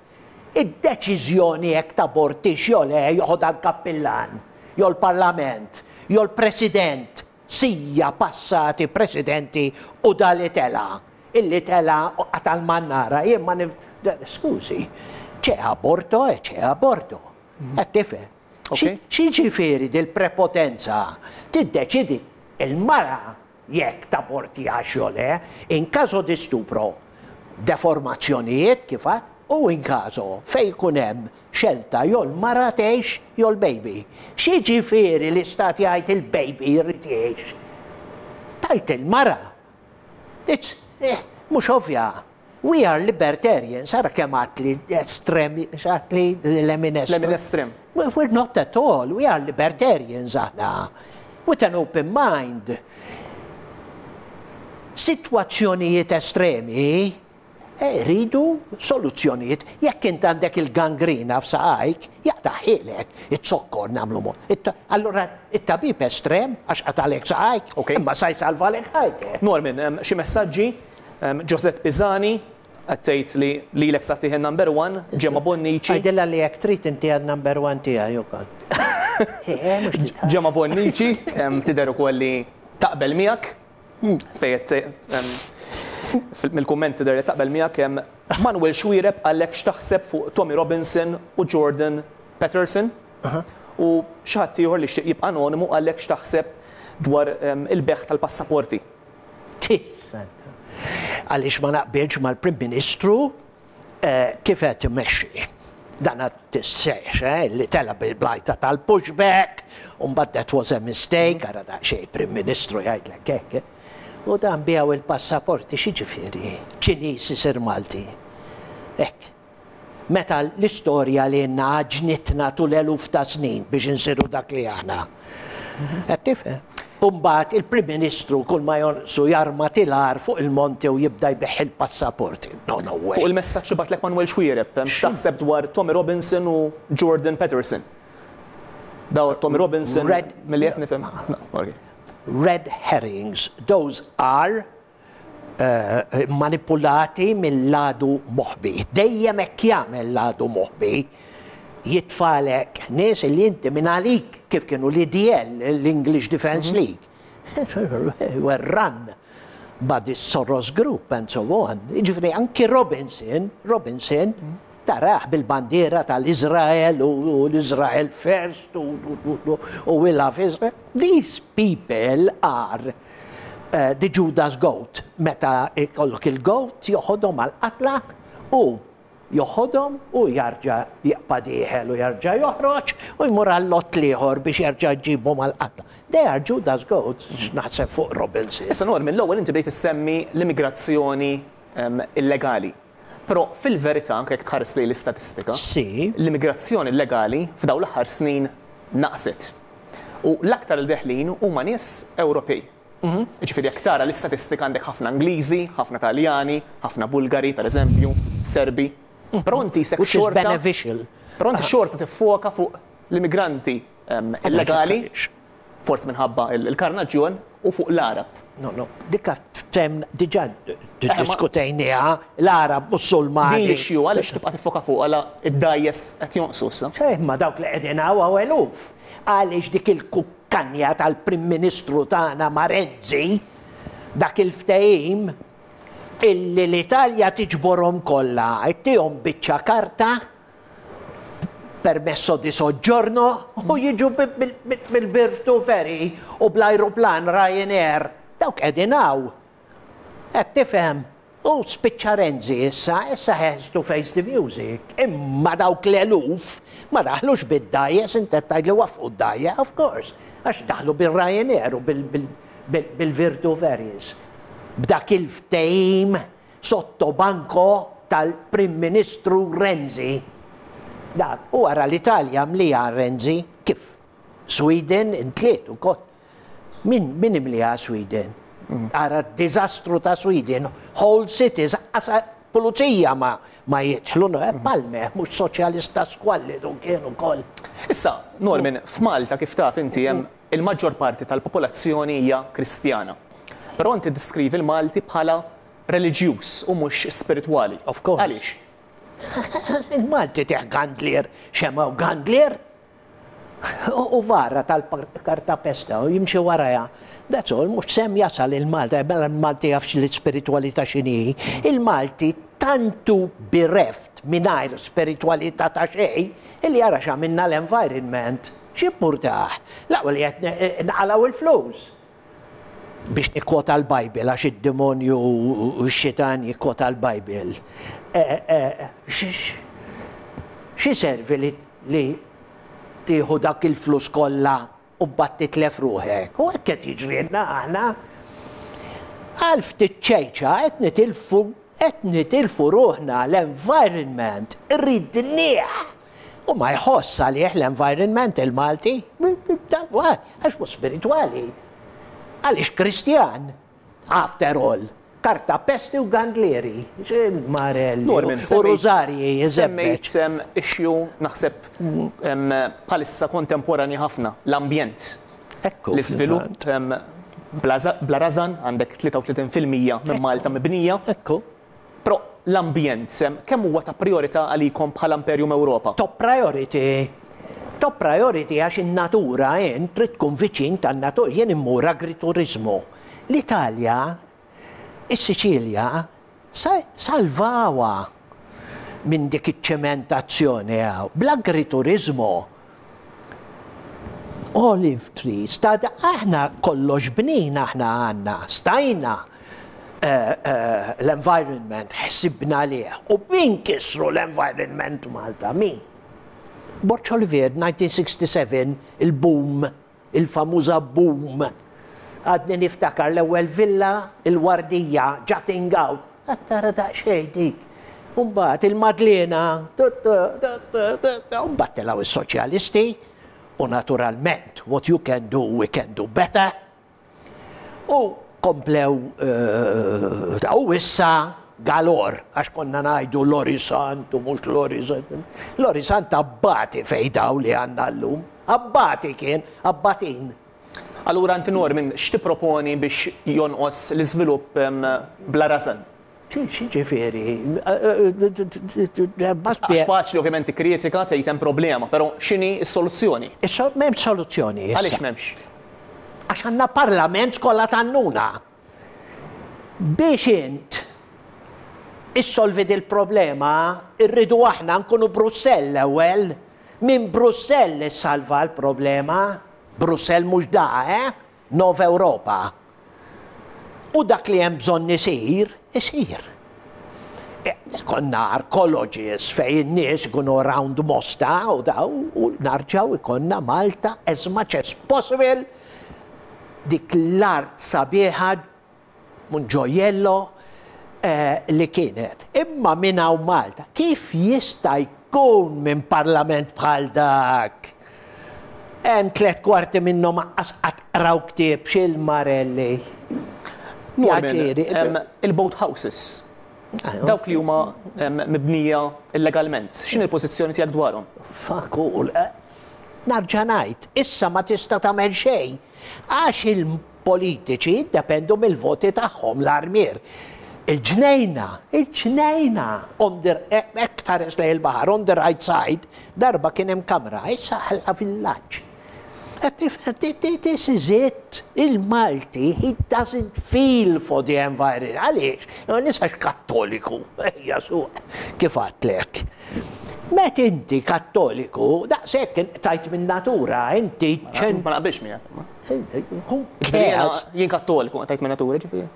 Id-deċiżjoni jekk tabortix jew le joħodha l-kappillan, jew l-Parlament, jew l-President, sija passati Presidenti u da li tela', illi tela' u qata' l-mannara, jien ma nif, skużi, c'è aborto e c'è aborto. Qed tifhem? X'jiġifieri dil-prepotenza? Tiddeċiedi l-mara jekk tabortihax jew le, in caso di stupro, deformazzjonijiet kif għedt, u in caso fejn ikun hemm xelta jew l-mara tgħix jew l-baby. X'jiġifieri l-istat jgħid il-baby jrid jgħix? Tgħid il-mara. It's, mhux ovvja. We are libertarians, ara kemm għedt li estrem, x'għedt li lemin estrem. Lemin estrem. We're not at all, we are libertarians aħna. With an open mind. Sitwazzjonijiet estremi eh, rridu soluzzjonijiet. Jekk int għandek il-gangrina f'saqajk, jaqtagħhielek, it-zokkor nagħmlu mod. Allura it-tabib estrem għax qatalek saqajk, imma sa jsalvalek ħajtek. Norman, xi messaġġi Josette Pisani qed tgħid li lilek sa ttih in-number one, Gemma Bonnici. Għidilha li jekk trid intiha n-number one tiegħi ukoll. Gemma Bonnici tidher ukoll li taqbel miegħek fejn qed mill-kumment tidher li taqbel miegħek Manuel Xuereb qallek x'taħseb fuq Tommy Robinson u Jordan Peterson u xi ħadd ieħor li jixtieq jibqa' anonimu qallek x'taħseb dwar il-bejgħ tal-passaporti. Tista'. Għaliex ma naqbilx mal-Prim Ministru kif qed imexxi. Dan għad tissex, eh, li tela' bil-blajta tal-pushback, u mbagħad that was a mistake, ara daqsxejn Prim Ministru jgħidlek hekk. Eh. U dan biegħu il-passaporti x'jiġifieri? Ċiniż isir Malti. Hekk. Meta l-istorja li għandna għaġnitna tul eluf ta' snin biex insiru dak li aħna. Qed tifhem? U mbagħad il-Prim Ministru kull ma jonqsu jarma tilar fuq il-monti u jibda jbigħ il-passaporti. No, no way. Fuq il-messaġġ li bagħatlek Manuel Xuereb, x'taħseb dwar Tommy Robinson u Jordan Peterson? Daw Tommy Robinson, milli qed nifhem. Red herrings, those are manipulati mill-għadu moħbi. Dejjem hekk jagħmel l-għadu moħbi. Jitfagħlek nies li inti minn għalik kif kienu l-EDL, l-English Defence League. Were run by this Soros group and so on. Jiġifieri anki Robinson, Robinson tarah bil-bandiera tal-Iżrael u l-Israel first u we love Israel. These people are the Judas goat. Meta jkollok il-goat joħodhom għall-qatla u joħodhom u jarġa' jibqa' dieħel u jarġa' joħroġ u jmur għal-lott l-ieħor biex jerġa' jġibhom għall-qatla. They are Judas goats, x'naħseb fuq Robinson. Issa Norman, l-ewwel inti bdejt issemmi l-immigrazzjoni illegali. Però fil-verità, anke jekk tħares lejn l-istatistika, l-immigrazzjoni illegali f'dawn l-aħħar snin naqset. U l-aktar li deħlin huma nies Ewropej. Jiġifieri jekk tara l-istatistika għandek ħafna Ingliżi, ħafna Taljani, ħafna Bulgari, pereżempju, Serbi. Però inti isek xorta. Però inti xorta tiffoka fuq l-immigranti illegali, forsi minħabba l-karnaġġjon, u fuq l-Għarab. No, no, dik ftem diġà ddiskutejniha, l-Għarab Musulmani. Din l-issue għaliex tibqa' tiffoka fuqha la d-dgħajjes qed jonqsu issa? Imma dawk li qegħdin hawn hawn eluf. Għaliex dik il-kukkanja tal-Prim Ministru tagħna ma' Renzi, dak il-ftehim illi l-Italja tiġborhom kollha, ittihom biċċa karta, permesso di soggiorno, u jiġu bil-Virtu Ferry u bl-ajruplan Ryanair. Dawk qegħdin hawn. Qed tifhem? U spiċċa Renzi issa, issa he has to face the music. Imma dawk l-eluf ma daħlux bid-dgħajjes, int qed tgħidli waffqu d-dgħajja, of course, għax daħlu bir-Ryanair u bil-Virtu Ferries. B'dak il-ftehim sotto banco tal-Prim Ministru Renzi. Dak, u ara l-Italja mliha Renzi, kif Sweden intliet ukoll. Min min imliha Sweden? Ara d-diżastru ta' Sweden, whole cities, anqas pulizija ma ma jidħlu, Palme, mhux soċjalista squallidu kien ukoll. Issa, Norman, f'Malta kif taf inti hemm il-maġġor parti tal-popolazzjoni hija Kristjana. Però inti tiddeskrivi l-Malti bħala reliġjuż u mhux spiritwali. Of course. Għaliex? Il-Malti tih gandlier, xemgħa u gandlier. U vara tal-kartapesta u jimxi warajha. That's all, mhux sehem jasal il-Malta, mela l-Malti jaf l-ispiritwalità x'inhi. Il-Malti tant hu bereft mingħajr spiritwalità ta' xejn illi ara x'għamilna l-environment. X'impurtah? L-aqwa li qed nqalgħu l-flus. Biex nikkwota l-Bible, għax id-demonju u x-xitan jikkwota l-Bible. X'iservi li tieħu dak il-flus kollha u mbagħad titlef ruħek? U hekk qed jiġrilna aħna. Għal ftit ċejċa qed nitilfu qed nitilfu ruħna l-environment ridnieh. U ma jħoss għalih l-environment il-Malti, għax mhux spiritwali. Għaliex Kristjan, after all. Karta pesti u gandlieri, marelli u rużarji jiżebbeġ. Semmejt issue naħseb bħalissa kontemporanja ħafna, l-ambjent. Ekku. L-iżvilupp bla rażan, għandek 33% minn Malta mibnija. Ekku. Però l-ambjent, kemm huwa ta' prijorità għalikom bħala Imperium Europa? Top priority. Top priority għax in-natura int trid tkun viċin tan-natura. Jien immur agrituriżmu. L-Italja, is-Siċilja, salvawha minn dik iċ-ċementazzjoni hawn. Bl-agrituriżmu. Olive trees, ta' aħna kollox bnin aħna għandna, stajna l-environment ħsibna għalih. U min kisru l-environment Malta? Min? Borg Olivier, 1967, il-boom, il-famuża boom. Għadni niftakar l-ewwel villa, il-Wardija, jutting out. Għad tara daqsxejn dik. U mbagħad il-Madliena, u mbagħad telgħu s-Soċjalisti u naturalment what you can do we can do better. U komplew u issa galore għax konna ngħidu Lori Sant u mhux Lori Sant. Lori Sant abbati fejn daw li għandna llum. Abbati kien, abbatin. Allura inti Norman x'tipproponi biex jonqos l-iżvilupp bla rażan? X'jiġifieri? Għax faċli ovvjament tikkritika tgħid hemm problema, però x'inhi s-soluzzjoni? M'hemmx soluzzjoni issa. Għaliex m'hemmx? Għax għandna parlament skola tan-nuna. Biex int issolvi dil-problema rridu aħna nkunu Brussell l-ewwel. Minn Brussell issalva l-problema. Brussell mhux da, eh? Nova Ewropa. U dak li hemm bżonn isir, isir. Ikollna arcologies fejn in-nies ikunu around Mosta u daw u narġgħu jkollna Malta as much as possible dik l-art sabiħa un gioiello li kienet. Imma minn hawn Malta, kif jista' jkun minn parlament bħal dak? Hemm tlett kwarti minnhom aqqas qatt qraw ktieb x'il-Marelli. Pjaċiri. Il-boat houses. Dawk li huma mibnija illegalment, x'inhi l-pożizzjoni tiegħek dwarhom? Fakul, narġa' ngħid, issa ma tista' tagħmel xejn għax il Politiċi jiddependu mill-voti tagħhom, l-armier. Il-ġnejna, il-ġnejna, on the, hekk tħares lejn il-baħar, on the right side, darba kien hemm kamra, issa ħalla villaġġ. Qed tifhem, this is it, il-Malti, he doesn't feel for the environment. Għaliex? L-ewwel għax Kattoliku, ejja suq, kif għedtlek. Met inti Kattoliku, daqshekk inqtajt min-natura, inti ċen. Ma naqbilx miegħek. Who cares? Jien kattoliku, tajt minn natura ġifieri.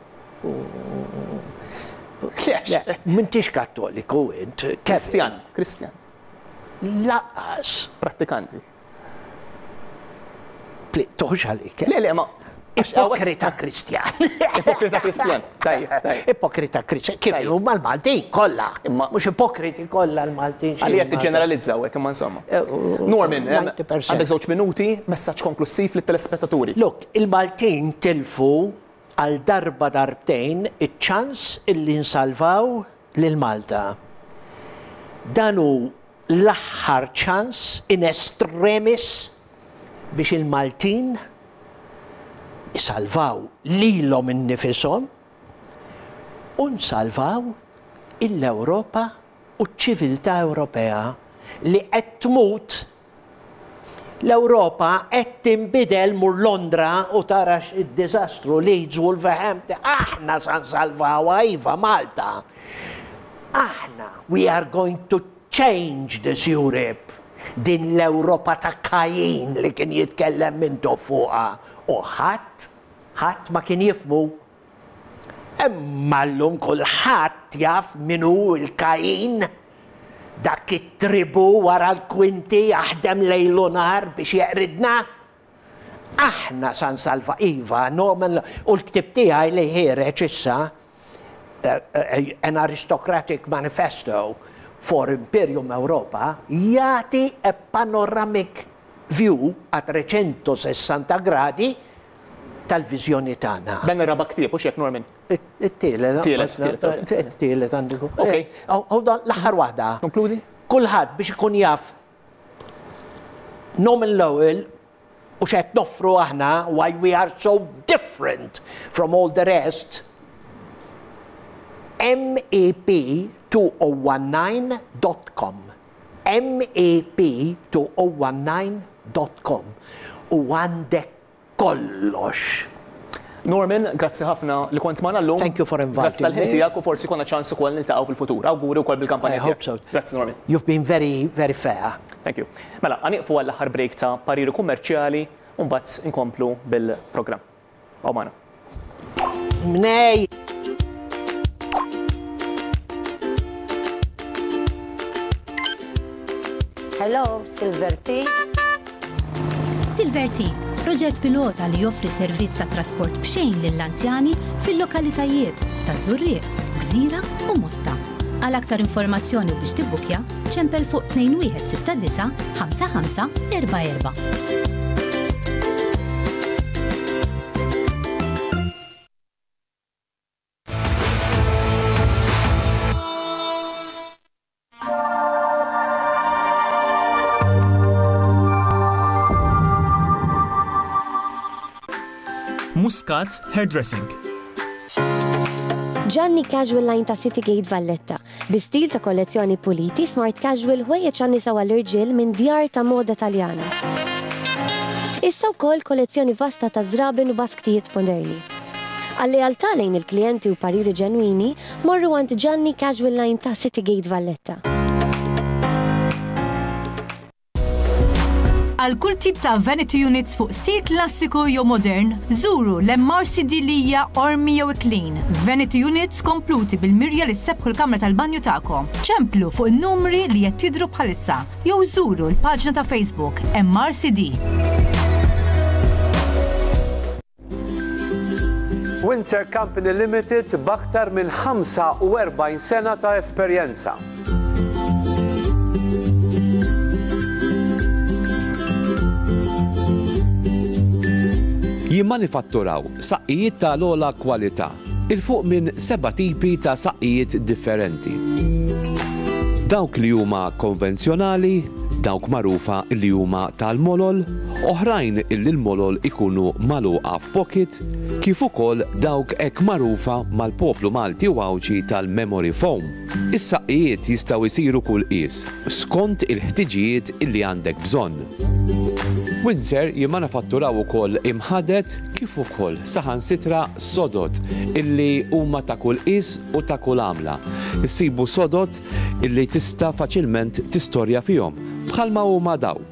M'intix kattoliku int. Kristjan, Kristjan. Lanqas. Prattikanti. Toħux għalik. Le, le, ma. Ipokrita Kristjan. Ipokrita Kristjan. Tajjeb, tajjeb. Ipokrita Kristjan. Kif huma l-Maltin kollha. Imma mhux ipokriti kollha l-Maltin. Għalija tiġġeneralizzaw hekk imma insomma. Norman, għandek żewġ minuti, messaġġ konklussiv lit-telespettaturi. Look, il-Maltin tilfu għal darba darbtejn iċ-ċans illi nsalvaw lil Malta. Dan hu l-aħħar ċans in extremis biex il-Maltin isalvaw lilhom innifishom u nsalvaw il-Ewropa u ċ-ċiviltà Ewropea li qed tmut. L-Ewropa qed tinbidel mur Londra u tara x-diżastru Leeds, Wolverhampton, aħna sa nsalvawha iva Malta. Aħna we are going to change this Europe. Din l-Ewropa ta' Kajin li kien jitkellem Mintoff fuqha u ħadd, ħadd ma kien jifhmu. Imma llum kulħadd jaf min hu l-Kajin. Dak it-tribù wara l-kwinti jaħdem lejl u nhar biex jeqridna. Aħna sa nsalva, iva, Norman, u l-ktieb tiegħi li ħiereġ issa, An Aristocratic Manifesto for Imperium Europa, jagħti a panoramic view a 360 gradi tal-viżjoni tagħna. Dan ir-raba' ktieb, hux hekk Norman? It-tielet. Tielet, tielet. It-tielet għandu jkun. Ok. Hold on, l-aħħar waħda. Konkludi. Kulħadd biex ikun jaf Norman Lowell u x'qed noffru aħna, why we are so different from all the rest, mep2019 dot com. mep2019 dot com. U għandek kollox. Norman, grazzi ħafna li kont magħna llum. Thank you for inviting me. Grazzi tal-ħin tiegħek u forsi jkollna ċans ukoll niltaqgħu fil-futur. Awguri wkoll bil-kampanja tiegħek. I hope so. Grazzi Norman. You've been very, very fair. Thank you. Mela, ħa nieqfu għall-aħħar break ta' pariri kummerċjali u mbagħad inkomplu bil-programm. Ibqgħu magħna. Mnej! Hello, Silver Tea. Silver Tea, proġett pilota li joffri servizz ta' trasport b'xejn lill-anzjani fil-lokalitajiet taż-Żurrieq, Gżira u Mosta. Għal aktar informazzjoni u biex tibbukja, ċempel fuq 2169 5544. Muscat Hairdressing. Gianni Casual Line ta' City Gate Valletta, bi stil ta' kollezzjoni puliti, smart casual, ħwejjeġ għan-nisa u għall-irġiel minn djar ta' moda Taljana. Issa wkoll kollezzjoni vasta ta' żraben u basktijiet moderni. Għal-lealtà lejn il-klijenti u pariri ġenwini, morru għand Gianni Casual Line ta' City Gate Valletta. Għal kull tip ta' vanity units fuq stil klassiku jew modern, żuru l-MRCD Lija, Qormi jew Iklin. Vanity units kompluti bil-mirja li ssebbħu l-kamra tal-banju tagħkom. Ċemplu fuq in-numri li qed jidhru bħalissa jew żuru l-paġna ta' Facebook MRCD. Windsor Company Limited b'aktar minn 45 sena ta' esperjenza. Jimmanifatturaw saqqijiet ta' l-ogħla kwalità, 'il fuq minn seba' tipi ta' saqqijiet differenti. Dawk li huma konvenzjonali, dawk magħrufa li huma tal-molol, oħrajn illi l-molol ikunu magħluqa f'pocket, kif ukoll dawk hekk magħrufa mal-poplu Malti u Għawdxi tal-memory foam. Is-saqqijiet jistgħu jsiru kull qies, skont il-ħtiġijiet illi għandek bżonn. Windsor jimmanafatturaw ukoll imħaded kif ukoll saħansitra sodod illi huma ta' kull qies u ta' kull għamla. Issibu sodod illi tista' faċilment tistorja fihom, bħalma huma dawn.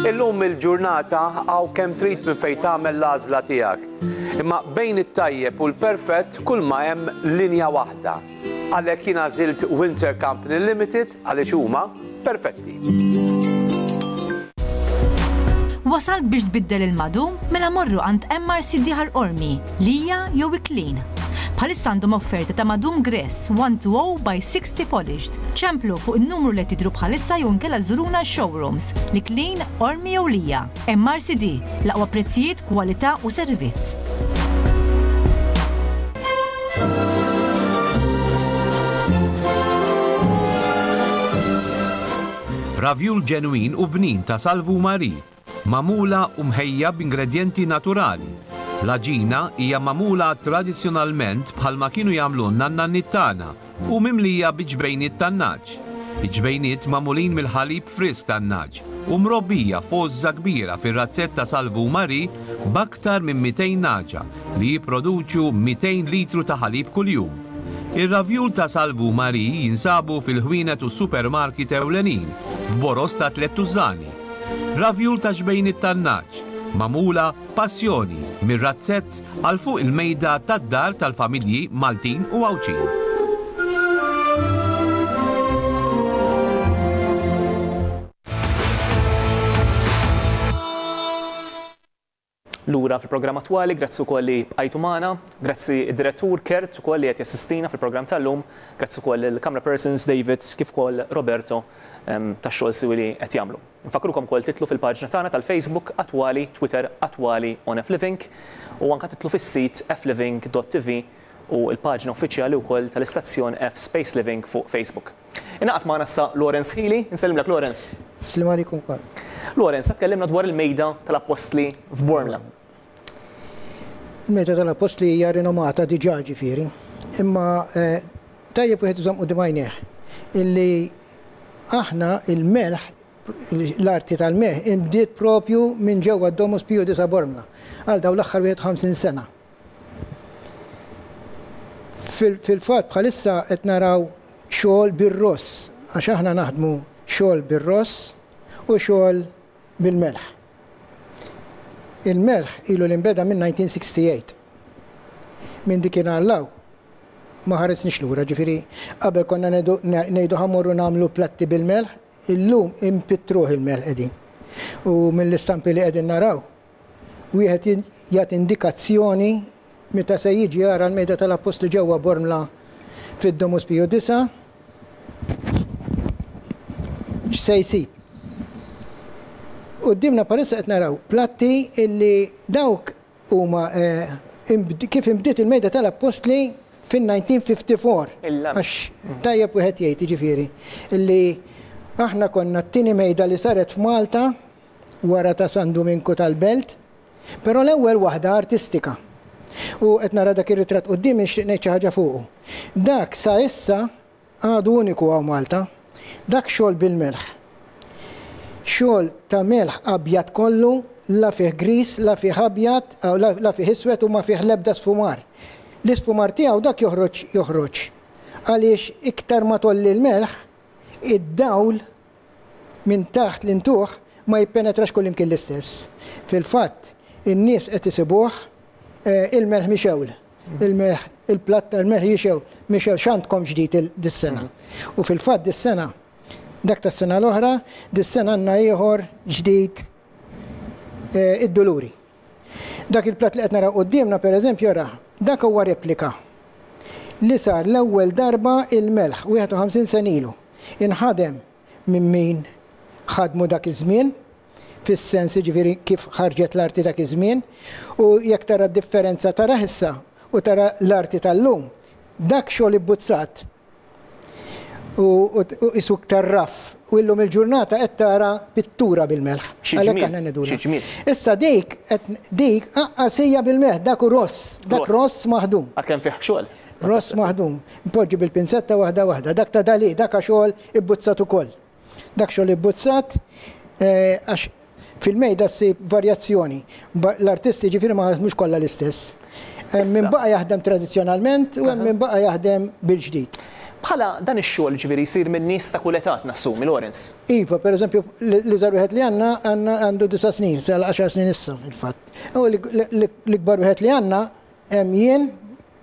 Illum il-ġurnata hawn kemm trid minn fejn tagħmel l-għażla tiegħek. Imma bejn it-tajjeb u l-perfett kulma hemm linja waħda. Għalhekk jien għażilt Windsor Company Limited għaliex huma perfetti. Wasalt biex tbiddel il-madum? Mela morru għand MRCD Ħal Qormi, Lija jew Iklin. Bħalissa għandhom offerta ta' madum Gress 120 by 60 polished. Ċemplu fuq in-numru li qed jidhru bħalissa jew inkella żuruna x-showrooms, l-Iklin, Qormi jew Lija. MRCD, l-aqwa prezzijiet, kwalità u servizz. Ravjul ġenwin u bnin ta' Salvu Marie, magħmula u mħejja b'ingredjenti naturali. L-għaġina hija magħmula tradizzjonalment bħalma kienu jagħmlulna n-nanniet tagħna u mimlija bi ġbejniet tan-nagħaġ. Il-ġbejniet magħmulin mill-ħalib frisk tan-nagħaġ u mrobbija f'għożża kbira fir-razzett ta' Salvu Marie b'aktar minn 200 nagħġa li jipproduċu 200 litru ta' ħalib kuljum. Ir-ravjul ta' Salvu Marie jinsabu fil-ħwienet u s-supermarket ewlenin f'boroż ta' tlett tużżani. Ravjul ta' xbejniet tan-nagħaġ, magħmula b'passjoni mir-razzett għal fuq il-mejda tad-dar tal-familji Maltin u Għawdxin. Lura fil-programm attwali, grazzi wkoll li bqajtu magħna, grazzi d-direttur Kurt ukoll li qed jassistina fil-programm tal-lum, grazzi wkoll lill-camera persons David kif ukoll Roberto tax-xogħol siwi li qed jagħmlu. Nfakkrukom ukoll titlu fil-paġna tagħna tal-Facebook Attwali, Twitter Attwali on F-Living u anke titlu fis-sit fliving.tv u l-paġna uffiċjali wkoll tal-istazzjon F Space Living fuq Facebook. Ingħaqad magħna issa Lawrence Hili. Insellimlek Lawrence. Sliem għalikom ukoll. Lawrence, se tkellimna dwar il-mejda tal-Appostli f'Bormla. Il-mejda tal-Appostli hija rinomata diġà ġifieri, imma tajjeb wieħed iżomm quddiem għajnejh illi aħna il-melħ l-arti tal-melħ inbdiet propju minn ġewwa d-Domus Pio Disa Bormla għal dawn l-aħħar 51 sena. Fil-fatt bħalissa qed naraw xogħol bir-ross għax aħna naħdmu xogħol bir-ross u xogħol bil-melħ. Il-melħ ilu li nbeda minn 1968. Minn dikinhar 'l hawn ma ħaresniex lura, ġifieri qabel konna ngħidu ħa mmorru nagħmlu platti bil-melħ, illum inpittruh il-melħ qegħdin. U mill-istampi li qegħdin naraw, wieħed jagħti indikazzjoni meta se jiġi jara l-Mejda tal-Appostli ġewwa Bormla fid-Domus Piju Disa' x'se jsib. Quddiemna bħalissa qed naraw platti illi dawk huma kif inbdiet il-Mejda tal-Appostli fin-1954. Għax tajjeb wieħed jgħid jiġifieri illi aħna konna t-tieni mejda li saret f'Malta wara ta' San Duminku tal-Belt. Però l-ewwel waħda artistika. U qed nara dak ir-ritratt quddiemi nixtieq ngħid xi ħaġa fuqu. Dak sa issa għadu uniku hawn Malta. Dak xogħol bil-melħ. Xogħol ta' melħ abjad kollu, la fih griż, la fih abjad, la fih iswed u ma fih l-ebda sfumar. L-isfumar tiegħu dak joħroġ joħroġ. Għaliex iktar ma tgħolli l-melħ, id-dawl minn taħt l-intuħ ma jippenetrax kullimkien l-istess. Fil-fatt, in-nies qed isibuh il-melħ mixewl. Il-melħ, il-platt tal-melħ jixew, mixewl, x'għandkom ġdid dis-sena? U fil-fatt dis-sena, dak tas-sena l-oħra, dis-sena għandna ieħor ġdid id-Duluri. Dak il-platt li qed naraw quddiemna pereżempju ara, dak huwa replika li sar l-ewwel darba il-melħ 51 sena ilu. Inħadem minn min ħadmu dak iż-żmien, fis-sens jiġifieri kif ħarġet l-arti dak iż-żmien, u jekk tara d-differenza tarah issa u tara l-arti tal-lum, dak xogħol ibbuzzat u qisu iktar raff u illum il-ġurnata qed tara pittura bil-melħ. Għalhekk aħna ngħidulha. Issa dik dik aqqas hija bil-melħ, dak hu ross, dak ross maħdum. Għalkemm fih xogħol. Ross maħdum. Npoġġi bil-pinzetta waħda waħda. Dak ta' Dalì, dak xogħol ibbuzzat ukoll. Dak xogħol ibbuzzat għax fil-mejda ssib varjazzjoni. L-artisti ġifieri ma ħadmux kollha l-istess. Hemm min baqa' jaħdem tradizzjonalment u hemm min baqa' jaħdem bil-ġdid. Bħala dan ix-xogħol ġifieri jsir minn nies ta' kull età nassumi, Lawrence? Iva, pereżempju l-iżgħar wieħed li għandna għandna għandu disa' snin, se għal għaxar snin issa fil-fatt. U l-ikbar wieħed li għandna hemm jien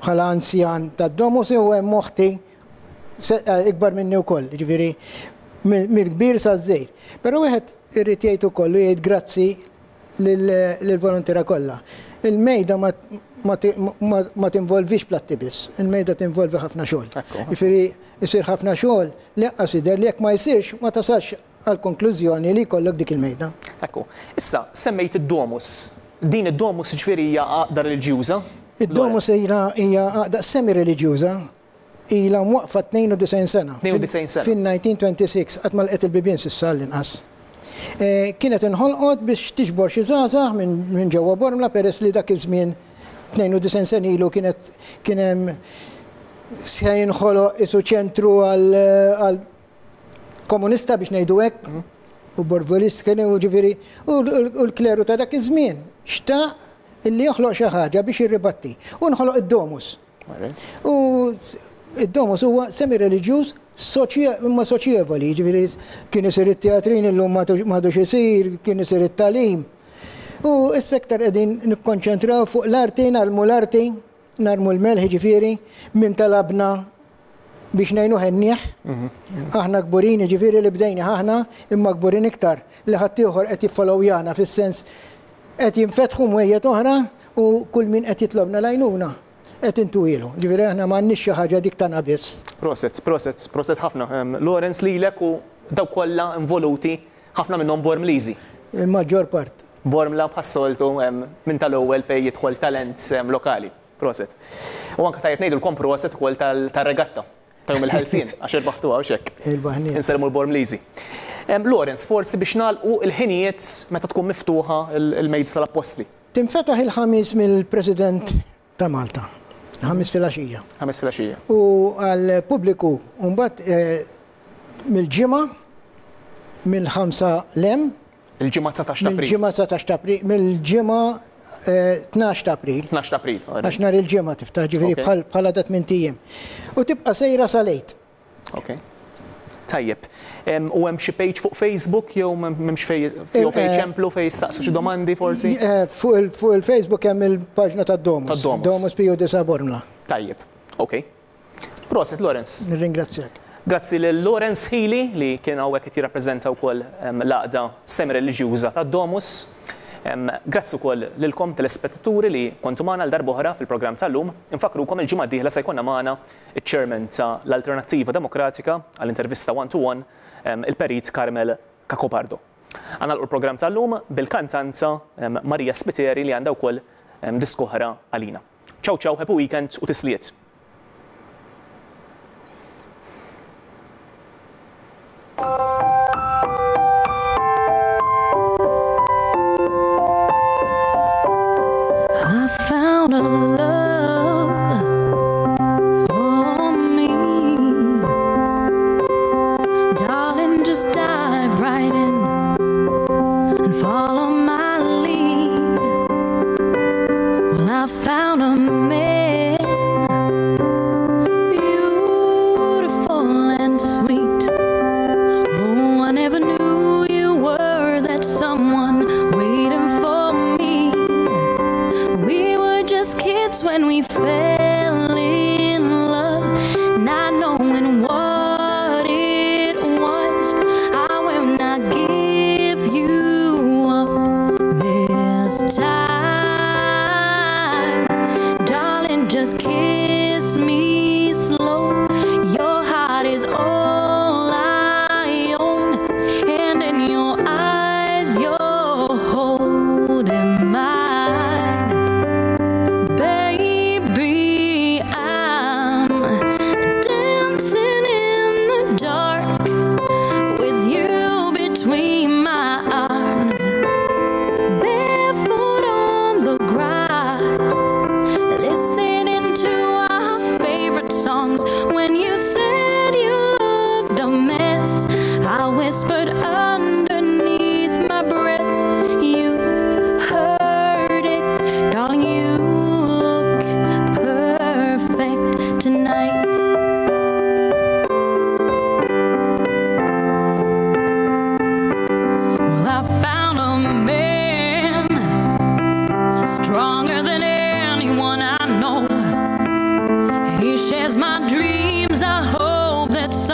bħala anzjan tad-Domus u hemm oħti ikbar minni wkoll, jiġifieri mill-kbir saż-żgħir. Però wieħed irid jgħid ukoll u jgħid grazzi lill-voluntiera kollha. Il-mejda ma tinvolvix platti biss, il-mejda tinvolvi ħafna xogħol. Jiġifieri jsir ħafna xogħol li anqas jidher li jekk ma jsirx ma tasalx għall-konklużjoni li jkollok dik il-mejda. Ekku. Issa, semmejt id-domus. Din id-domus jiġifieri hija għaqda reliġjuża? Id-domus hija għaqda semi-reliġjuża. Ilha mwaqqfa 92 sena. 92 sena. Fin-1926, qatt ma lqgħet il-bibien s'issa għall-inqas. Kienet inħolqot biex tiġbor xi żgħażagħ minn ġewwa Bormla peress li dak iż-żmien 92 sena ilu kienet kien hemm se jinħoloq isu ċentru għal komunista biex ngħidu hekk, u borvolist kien u ġifieri u l-kleru ta' dak iż-żmien xtaq illi joħloq xi ħaġa biex jirribatti. U nħoloq id-domus. U id-domus huwa semi-reliġjuż imma soċjevoli, ġifieri kien isir it-teatrin illum m'għadux isir, kien isir it-tagħlim. U issa iktar qegħdin nikkonċentraw fuq l-arti, narmu l-arti, narmu l-melħ jiġifieri, min talabna biex ngħinuh għennieh. Aħna kburin jiġifieri li bdejnih aħna, imma kburin iktar li ħaddieħor qed jiffolowjana fis-sens qed jinfetħu mwejjed oħra u kull min qed jitlobna l-għajnuna qed intuhielu. Ġifieri aħna m'għandniex xi ħaġa dik tagħna biss. Proset, proset, proset ħafna. Lawrence lilek u dawk kollha involuti, ħafna minnhom Bormliżi. Il-maġġor part. Bormla bħas-soltu minn tal-ewwel fejn jidħol talent lokali. Proset. U anke tajjeb ngħidulkom proset ukoll tar-regatta ta' Jum il-Ħelsien għax irbaħtuha hux hekk? Irbaħniha. Insellmu l-Bormliżi. Lawrence, forsi biex nagħlqu l-ħinijiet meta tkun miftuħa l-Mejda tal-Appostli. Tinfetaħ il-Ħamis mill-President ta' Malta, Ħamis filgħaxija. Ħamis filgħaxija. U għall-pubbliku mbagħad mill-Ġimgħa mill-ħamsa 'l hemm Il-Ġimgħa 19 ta' April. Mill-Ġimgħa 19 ta' April, mill-Ġimgħa 12 ta' April. 12 ta' April. Għax nhar il-Ġimgħa tiftaħ, ġifieri bħala ta' tmint ijiem. U tibqa' sejra sal-Għid. Ok. Tajjeb. U hemm xi page fuq Facebook jew m'hemmx fej jew fejn iċemplu fejn jistaqsu xi domandi forsi? Fuq il-Facebook hemm il-paġna tad-Domus. Tad-Domus. Domus Piju Disa' Bormla. Tajjeb. Ok. Proset Lawrence. Nirringrazzjak. Grazzi lil Lawrence Hili li kien hawnhekk qed jirrappreżenta wkoll l-għaqda semi-reliġjuża tad-Domus. Grazzi wkoll lilkom telespettaturi li kontu magħna għal darb'oħra fil-programm tal-lum. Infakkrukom il-ġimgħa d-dieħla se jkollna magħna ċ-Chairman ta' l-Alternattiva Demokratika għal intervista one to one, il-Perit Carmel Cacopardo. Ħa nagħlqu l-programm tal-lum bil-kantanta Maria Spiteri li għandha wkoll diska oħra għalina. Ciao ciao, happy weekend u tislijiet.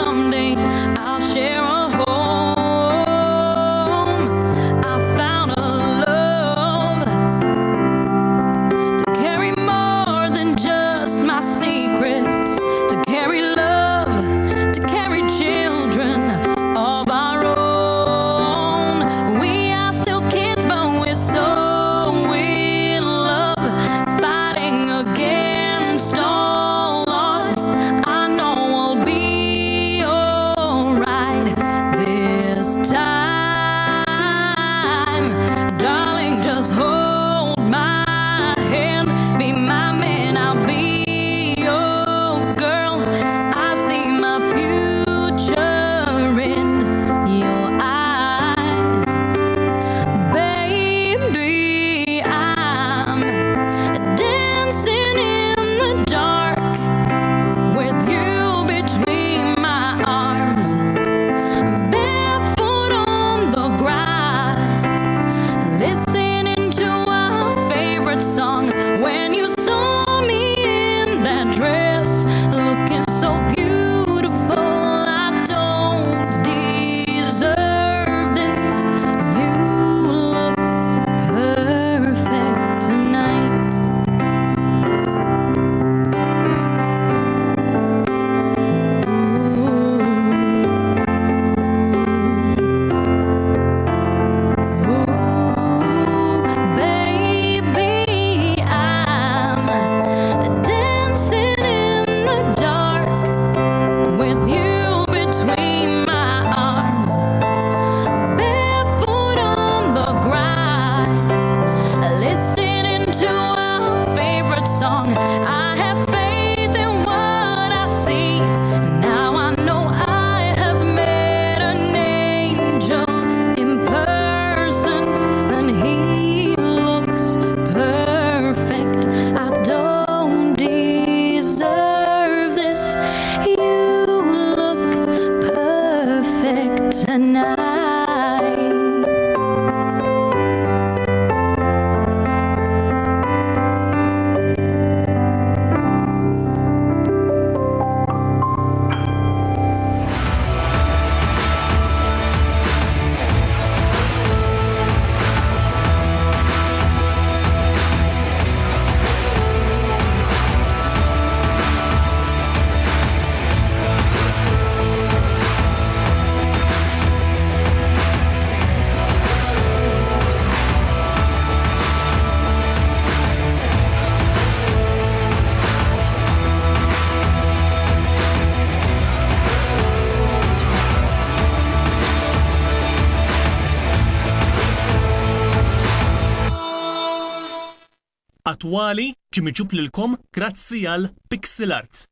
someday I'll share a home. I found a love to carry more than just my secrets, to carry love, to carry children of our own. We are still kids, but we're so in love, fighting against all odds. I know we'll be alright this time. Darling, just hold my hand. Be my man, I'll be your girl. I see my future in your eyes. Baby, I'm dancing in the dark with you between my arms, barefoot on the grass, listening to our favorite song. When you saw me in that dress, looking so beautiful, I don't deserve this. You look perfect tonight. Baby, I'm dancing in the dark with you between my arms, barefoot on the grass, listening to our favorite song. I have faith in what I see. Now I know I have met an angel in person, and he looks perfect. I don't deserve this. You look perfect tonight. Attwali ġie miġjub lilkom grazzi għal Pixel Art.